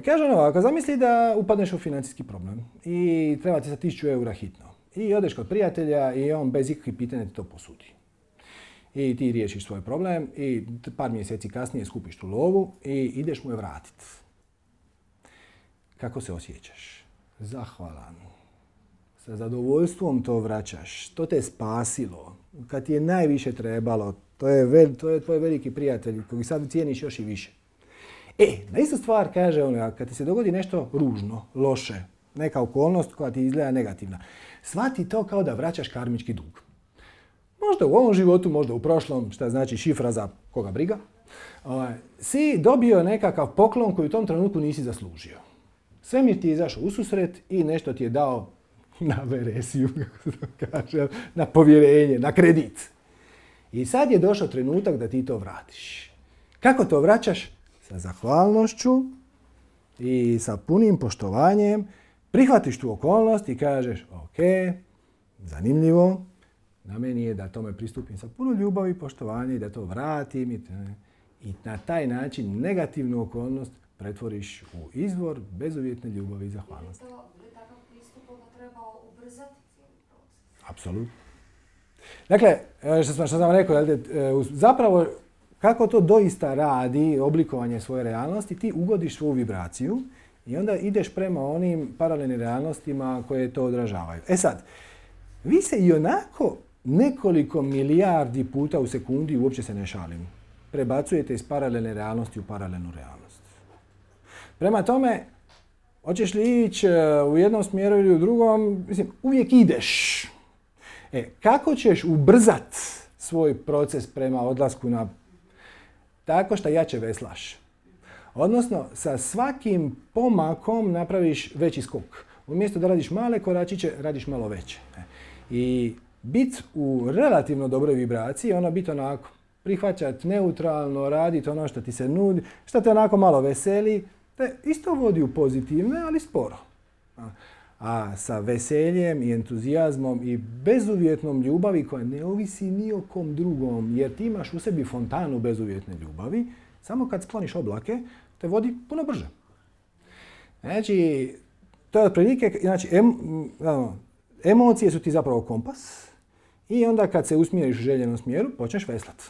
Kaže on ovako, zamisli da upadneš u financijski problem i treba ti sa tisuću eura hitno. I odeš kod prijatelja i on bez ikakvih pitanja ti to posudi. I ti riješiš svoj problem i par mjeseci kasnije skupiš tu lovu i ideš mu je vratiti. Kako se osjećaš? Zahvalan. Sa zadovoljstvom to vraćaš. To te spasilo. Kad ti je najviše trebalo, to je, vel, to je tvoj veliki prijatelj koji sad cijeniš još i više. E, na istu stvar kaže on, kad ti se dogodi nešto ružno, loše, neka okolnost koja ti izgleda negativna, shvati to kao da vraćaš karmički dug. Možda u ovom životu, možda u prošlom, šta znači šifra za koga briga, si dobio nekakav poklon koji u tom trenutku nisi zaslužio. Svemir ti je izašao u susret i nešto ti je dao na veresiju, kako se to kaže, na povjerenje, na kredit. I sad je došao trenutak da ti to vratiš. Kako to vraćaš? Sa zahvalnošću i sa punim poštovanjem prihvatiš tu okolnost i kažeš, ok, zanimljivo, Na meni je da tome pristupim sa puno ljubavi i poštovanja i da to vratim i, i na taj način negativnu okolnost pretvoriš u izvor bezuvjetne ljubavi i zahvalnosti. Je li to, je takav pristup onda trebao ubrzati cijeli proces? Apsolutno. Dakle, što sam, što sam rekao, zapravo kako to doista radi, oblikovanje svoje realnosti, ti ugodiš svoju vibraciju i onda ideš prema onim paralelnim realnostima koje to odražavaju. E sad, vi se i onako nekoliko milijardi puta u sekundi, uopće se ne šalim, prebacujete iz paralelne realnosti u paralelnu realnost. Prema tome, hoćeš li ići u jednom smjeru ili u drugom, mislim, uvijek ideš. E, kako ćeš ubrzat svoj proces prema odlasku na... Tako što jače veslaš. Odnosno, sa svakim pomakom napraviš veći skok. Umjesto da radiš male koračiće, radiš malo veće. I bit u relativno dobroj vibraciji, ono bit onako, prihvaćat neutralno, raditi ono što ti se nudi, što te onako malo veseli, te isto vodi u pozitivne, ali sporo. A sa veseljem i entuzijazmom i bezuvjetnom ljubavi koja ne ovisi ni o kom drugom, jer ti imaš u sebi fontanu bezuvjetne ljubavi, samo kad skloniš oblake, te vodi puno brže. Znači, to je otprilike, znači, em, emocije su ti zapravo kompas i onda kad se usmjeriš u željenom smjeru, počneš veslat.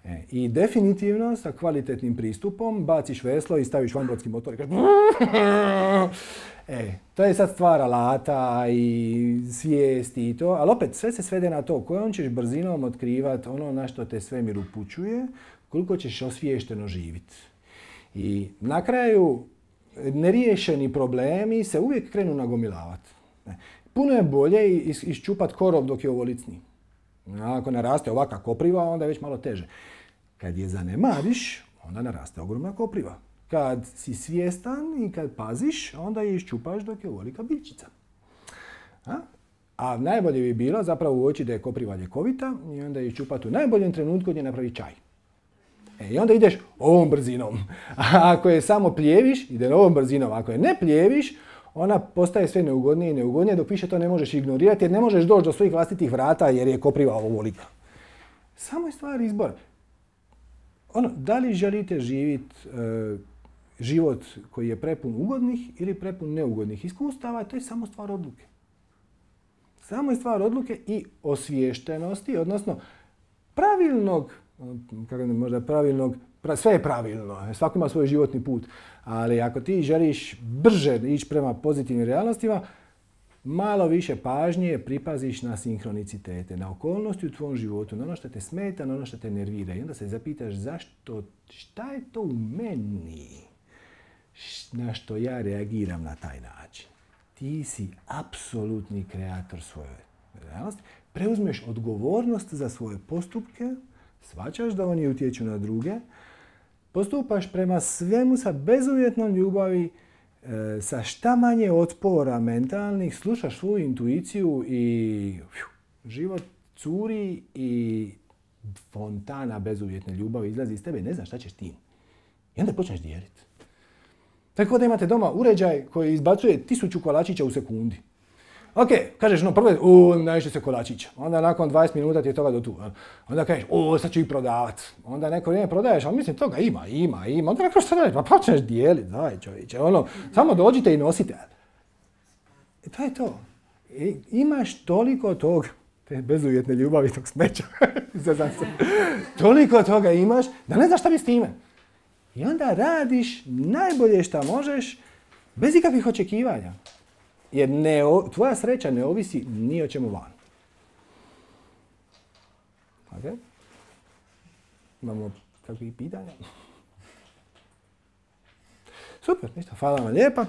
E, I definitivno sa kvalitetnim pristupom baciš veslo i staviš vanbrodski motor i kažeš E, to je sad stvar alata i svijesti i to, ali opet sve se svede na to kojom ćeš brzinom otkrivati ono na što te svemir upućuje, koliko ćeš osviješteno živjeti. I na kraju neriješeni problemi se uvijek krenu nagomilavati. Puno je bolje iščupati korov dok je ovolicni. Ako naraste ovakva kopriva, onda je već malo teže. Kad je zanemariš, onda naraste ogromna kopriva. Kad si svjestan i kad paziš, onda je iščupaš dok je ovolika biljčica. A? A najbolje bi bilo zapravo uoči da je kopriva ljekovita i onda je iščupati u najboljem trenutku gdje napravi čaj. E, I onda ideš ovom brzinom. A ako je samo pljeviš, ide ovom brzinom. Ako je ne pljeviš, ona postaje sve neugodnije i neugodnije, dok više to ne možeš ignorirati jer ne možeš doći do svojih vlastitih vrata jer je kopriva ovolika. Samo je stvar izbora. Ono, da li želite živjeti e, život koji je prepun ugodnih ili prepun neugodnih iskustava, to je samo stvar odluke. Samo je stvar odluke i osviještenosti, odnosno pravilnog, kako ne možda pravilnog, pra, sve je pravilno, svako ima svoj životni put, ali ako ti želiš brže ići prema pozitivnim realnostima, malo više pažnje pripaziš na sinhronicitete, na okolnosti u tvom životu, na ono što te smeta, na ono što te nervira. I onda se zapitaš zašto, šta je to u meni na što ja reagiram na taj način. Ti si apsolutni kreator svoje realnosti. Preuzmeš odgovornost za svoje postupke, shvaćaš da oni utječu na druge, postupaš prema svemu sa bezuvjetnom ljubavi, sa šta manje otpora mentalnih, slušaš svoju intuiciju i fju, život curi i fontana bezuvjetne ljubavi izlazi iz tebe i ne znaš šta ćeš tim. I onda počneš dijeliti. Tako da imate doma uređaj koji izbacuje tisuću kolačića u sekundi. Ok, kažeš, no prvo je, u, najviše se kolačića. Onda nakon dvadeset minuta ti je toga do tu. Onda kažeš, o, sad ću ih prodavat. Onda neko vrijeme prodaješ, ali mislim, toga ima, ima, ima. Onda neko što radiš, pa počneš dijeliti, daj čovječe, ono, samo dođite i nosite. I to je to. I, imaš toliko tog, te bezuvjetne ljubavi, tog smeća, toliko toga imaš, da ne znaš šta bi s time. I onda radiš najbolje šta možeš, bez ikakvih očekivanja. Jer ne, tvoja sreća ne ovisi ni o čemu van. Ok? Imamo kakvih pitanja? Super, ništa, hvala vam lijepa.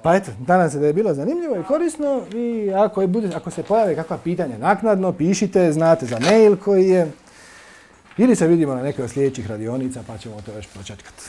Pa eto, nadam se da je bilo zanimljivo i korisno i ako, je, bude, ako se pojave kakva pitanja naknadno, pišite, znate za mail koji je. Ili se vidimo na nekoj od sljedećih radionica pa ćemo to još početkati.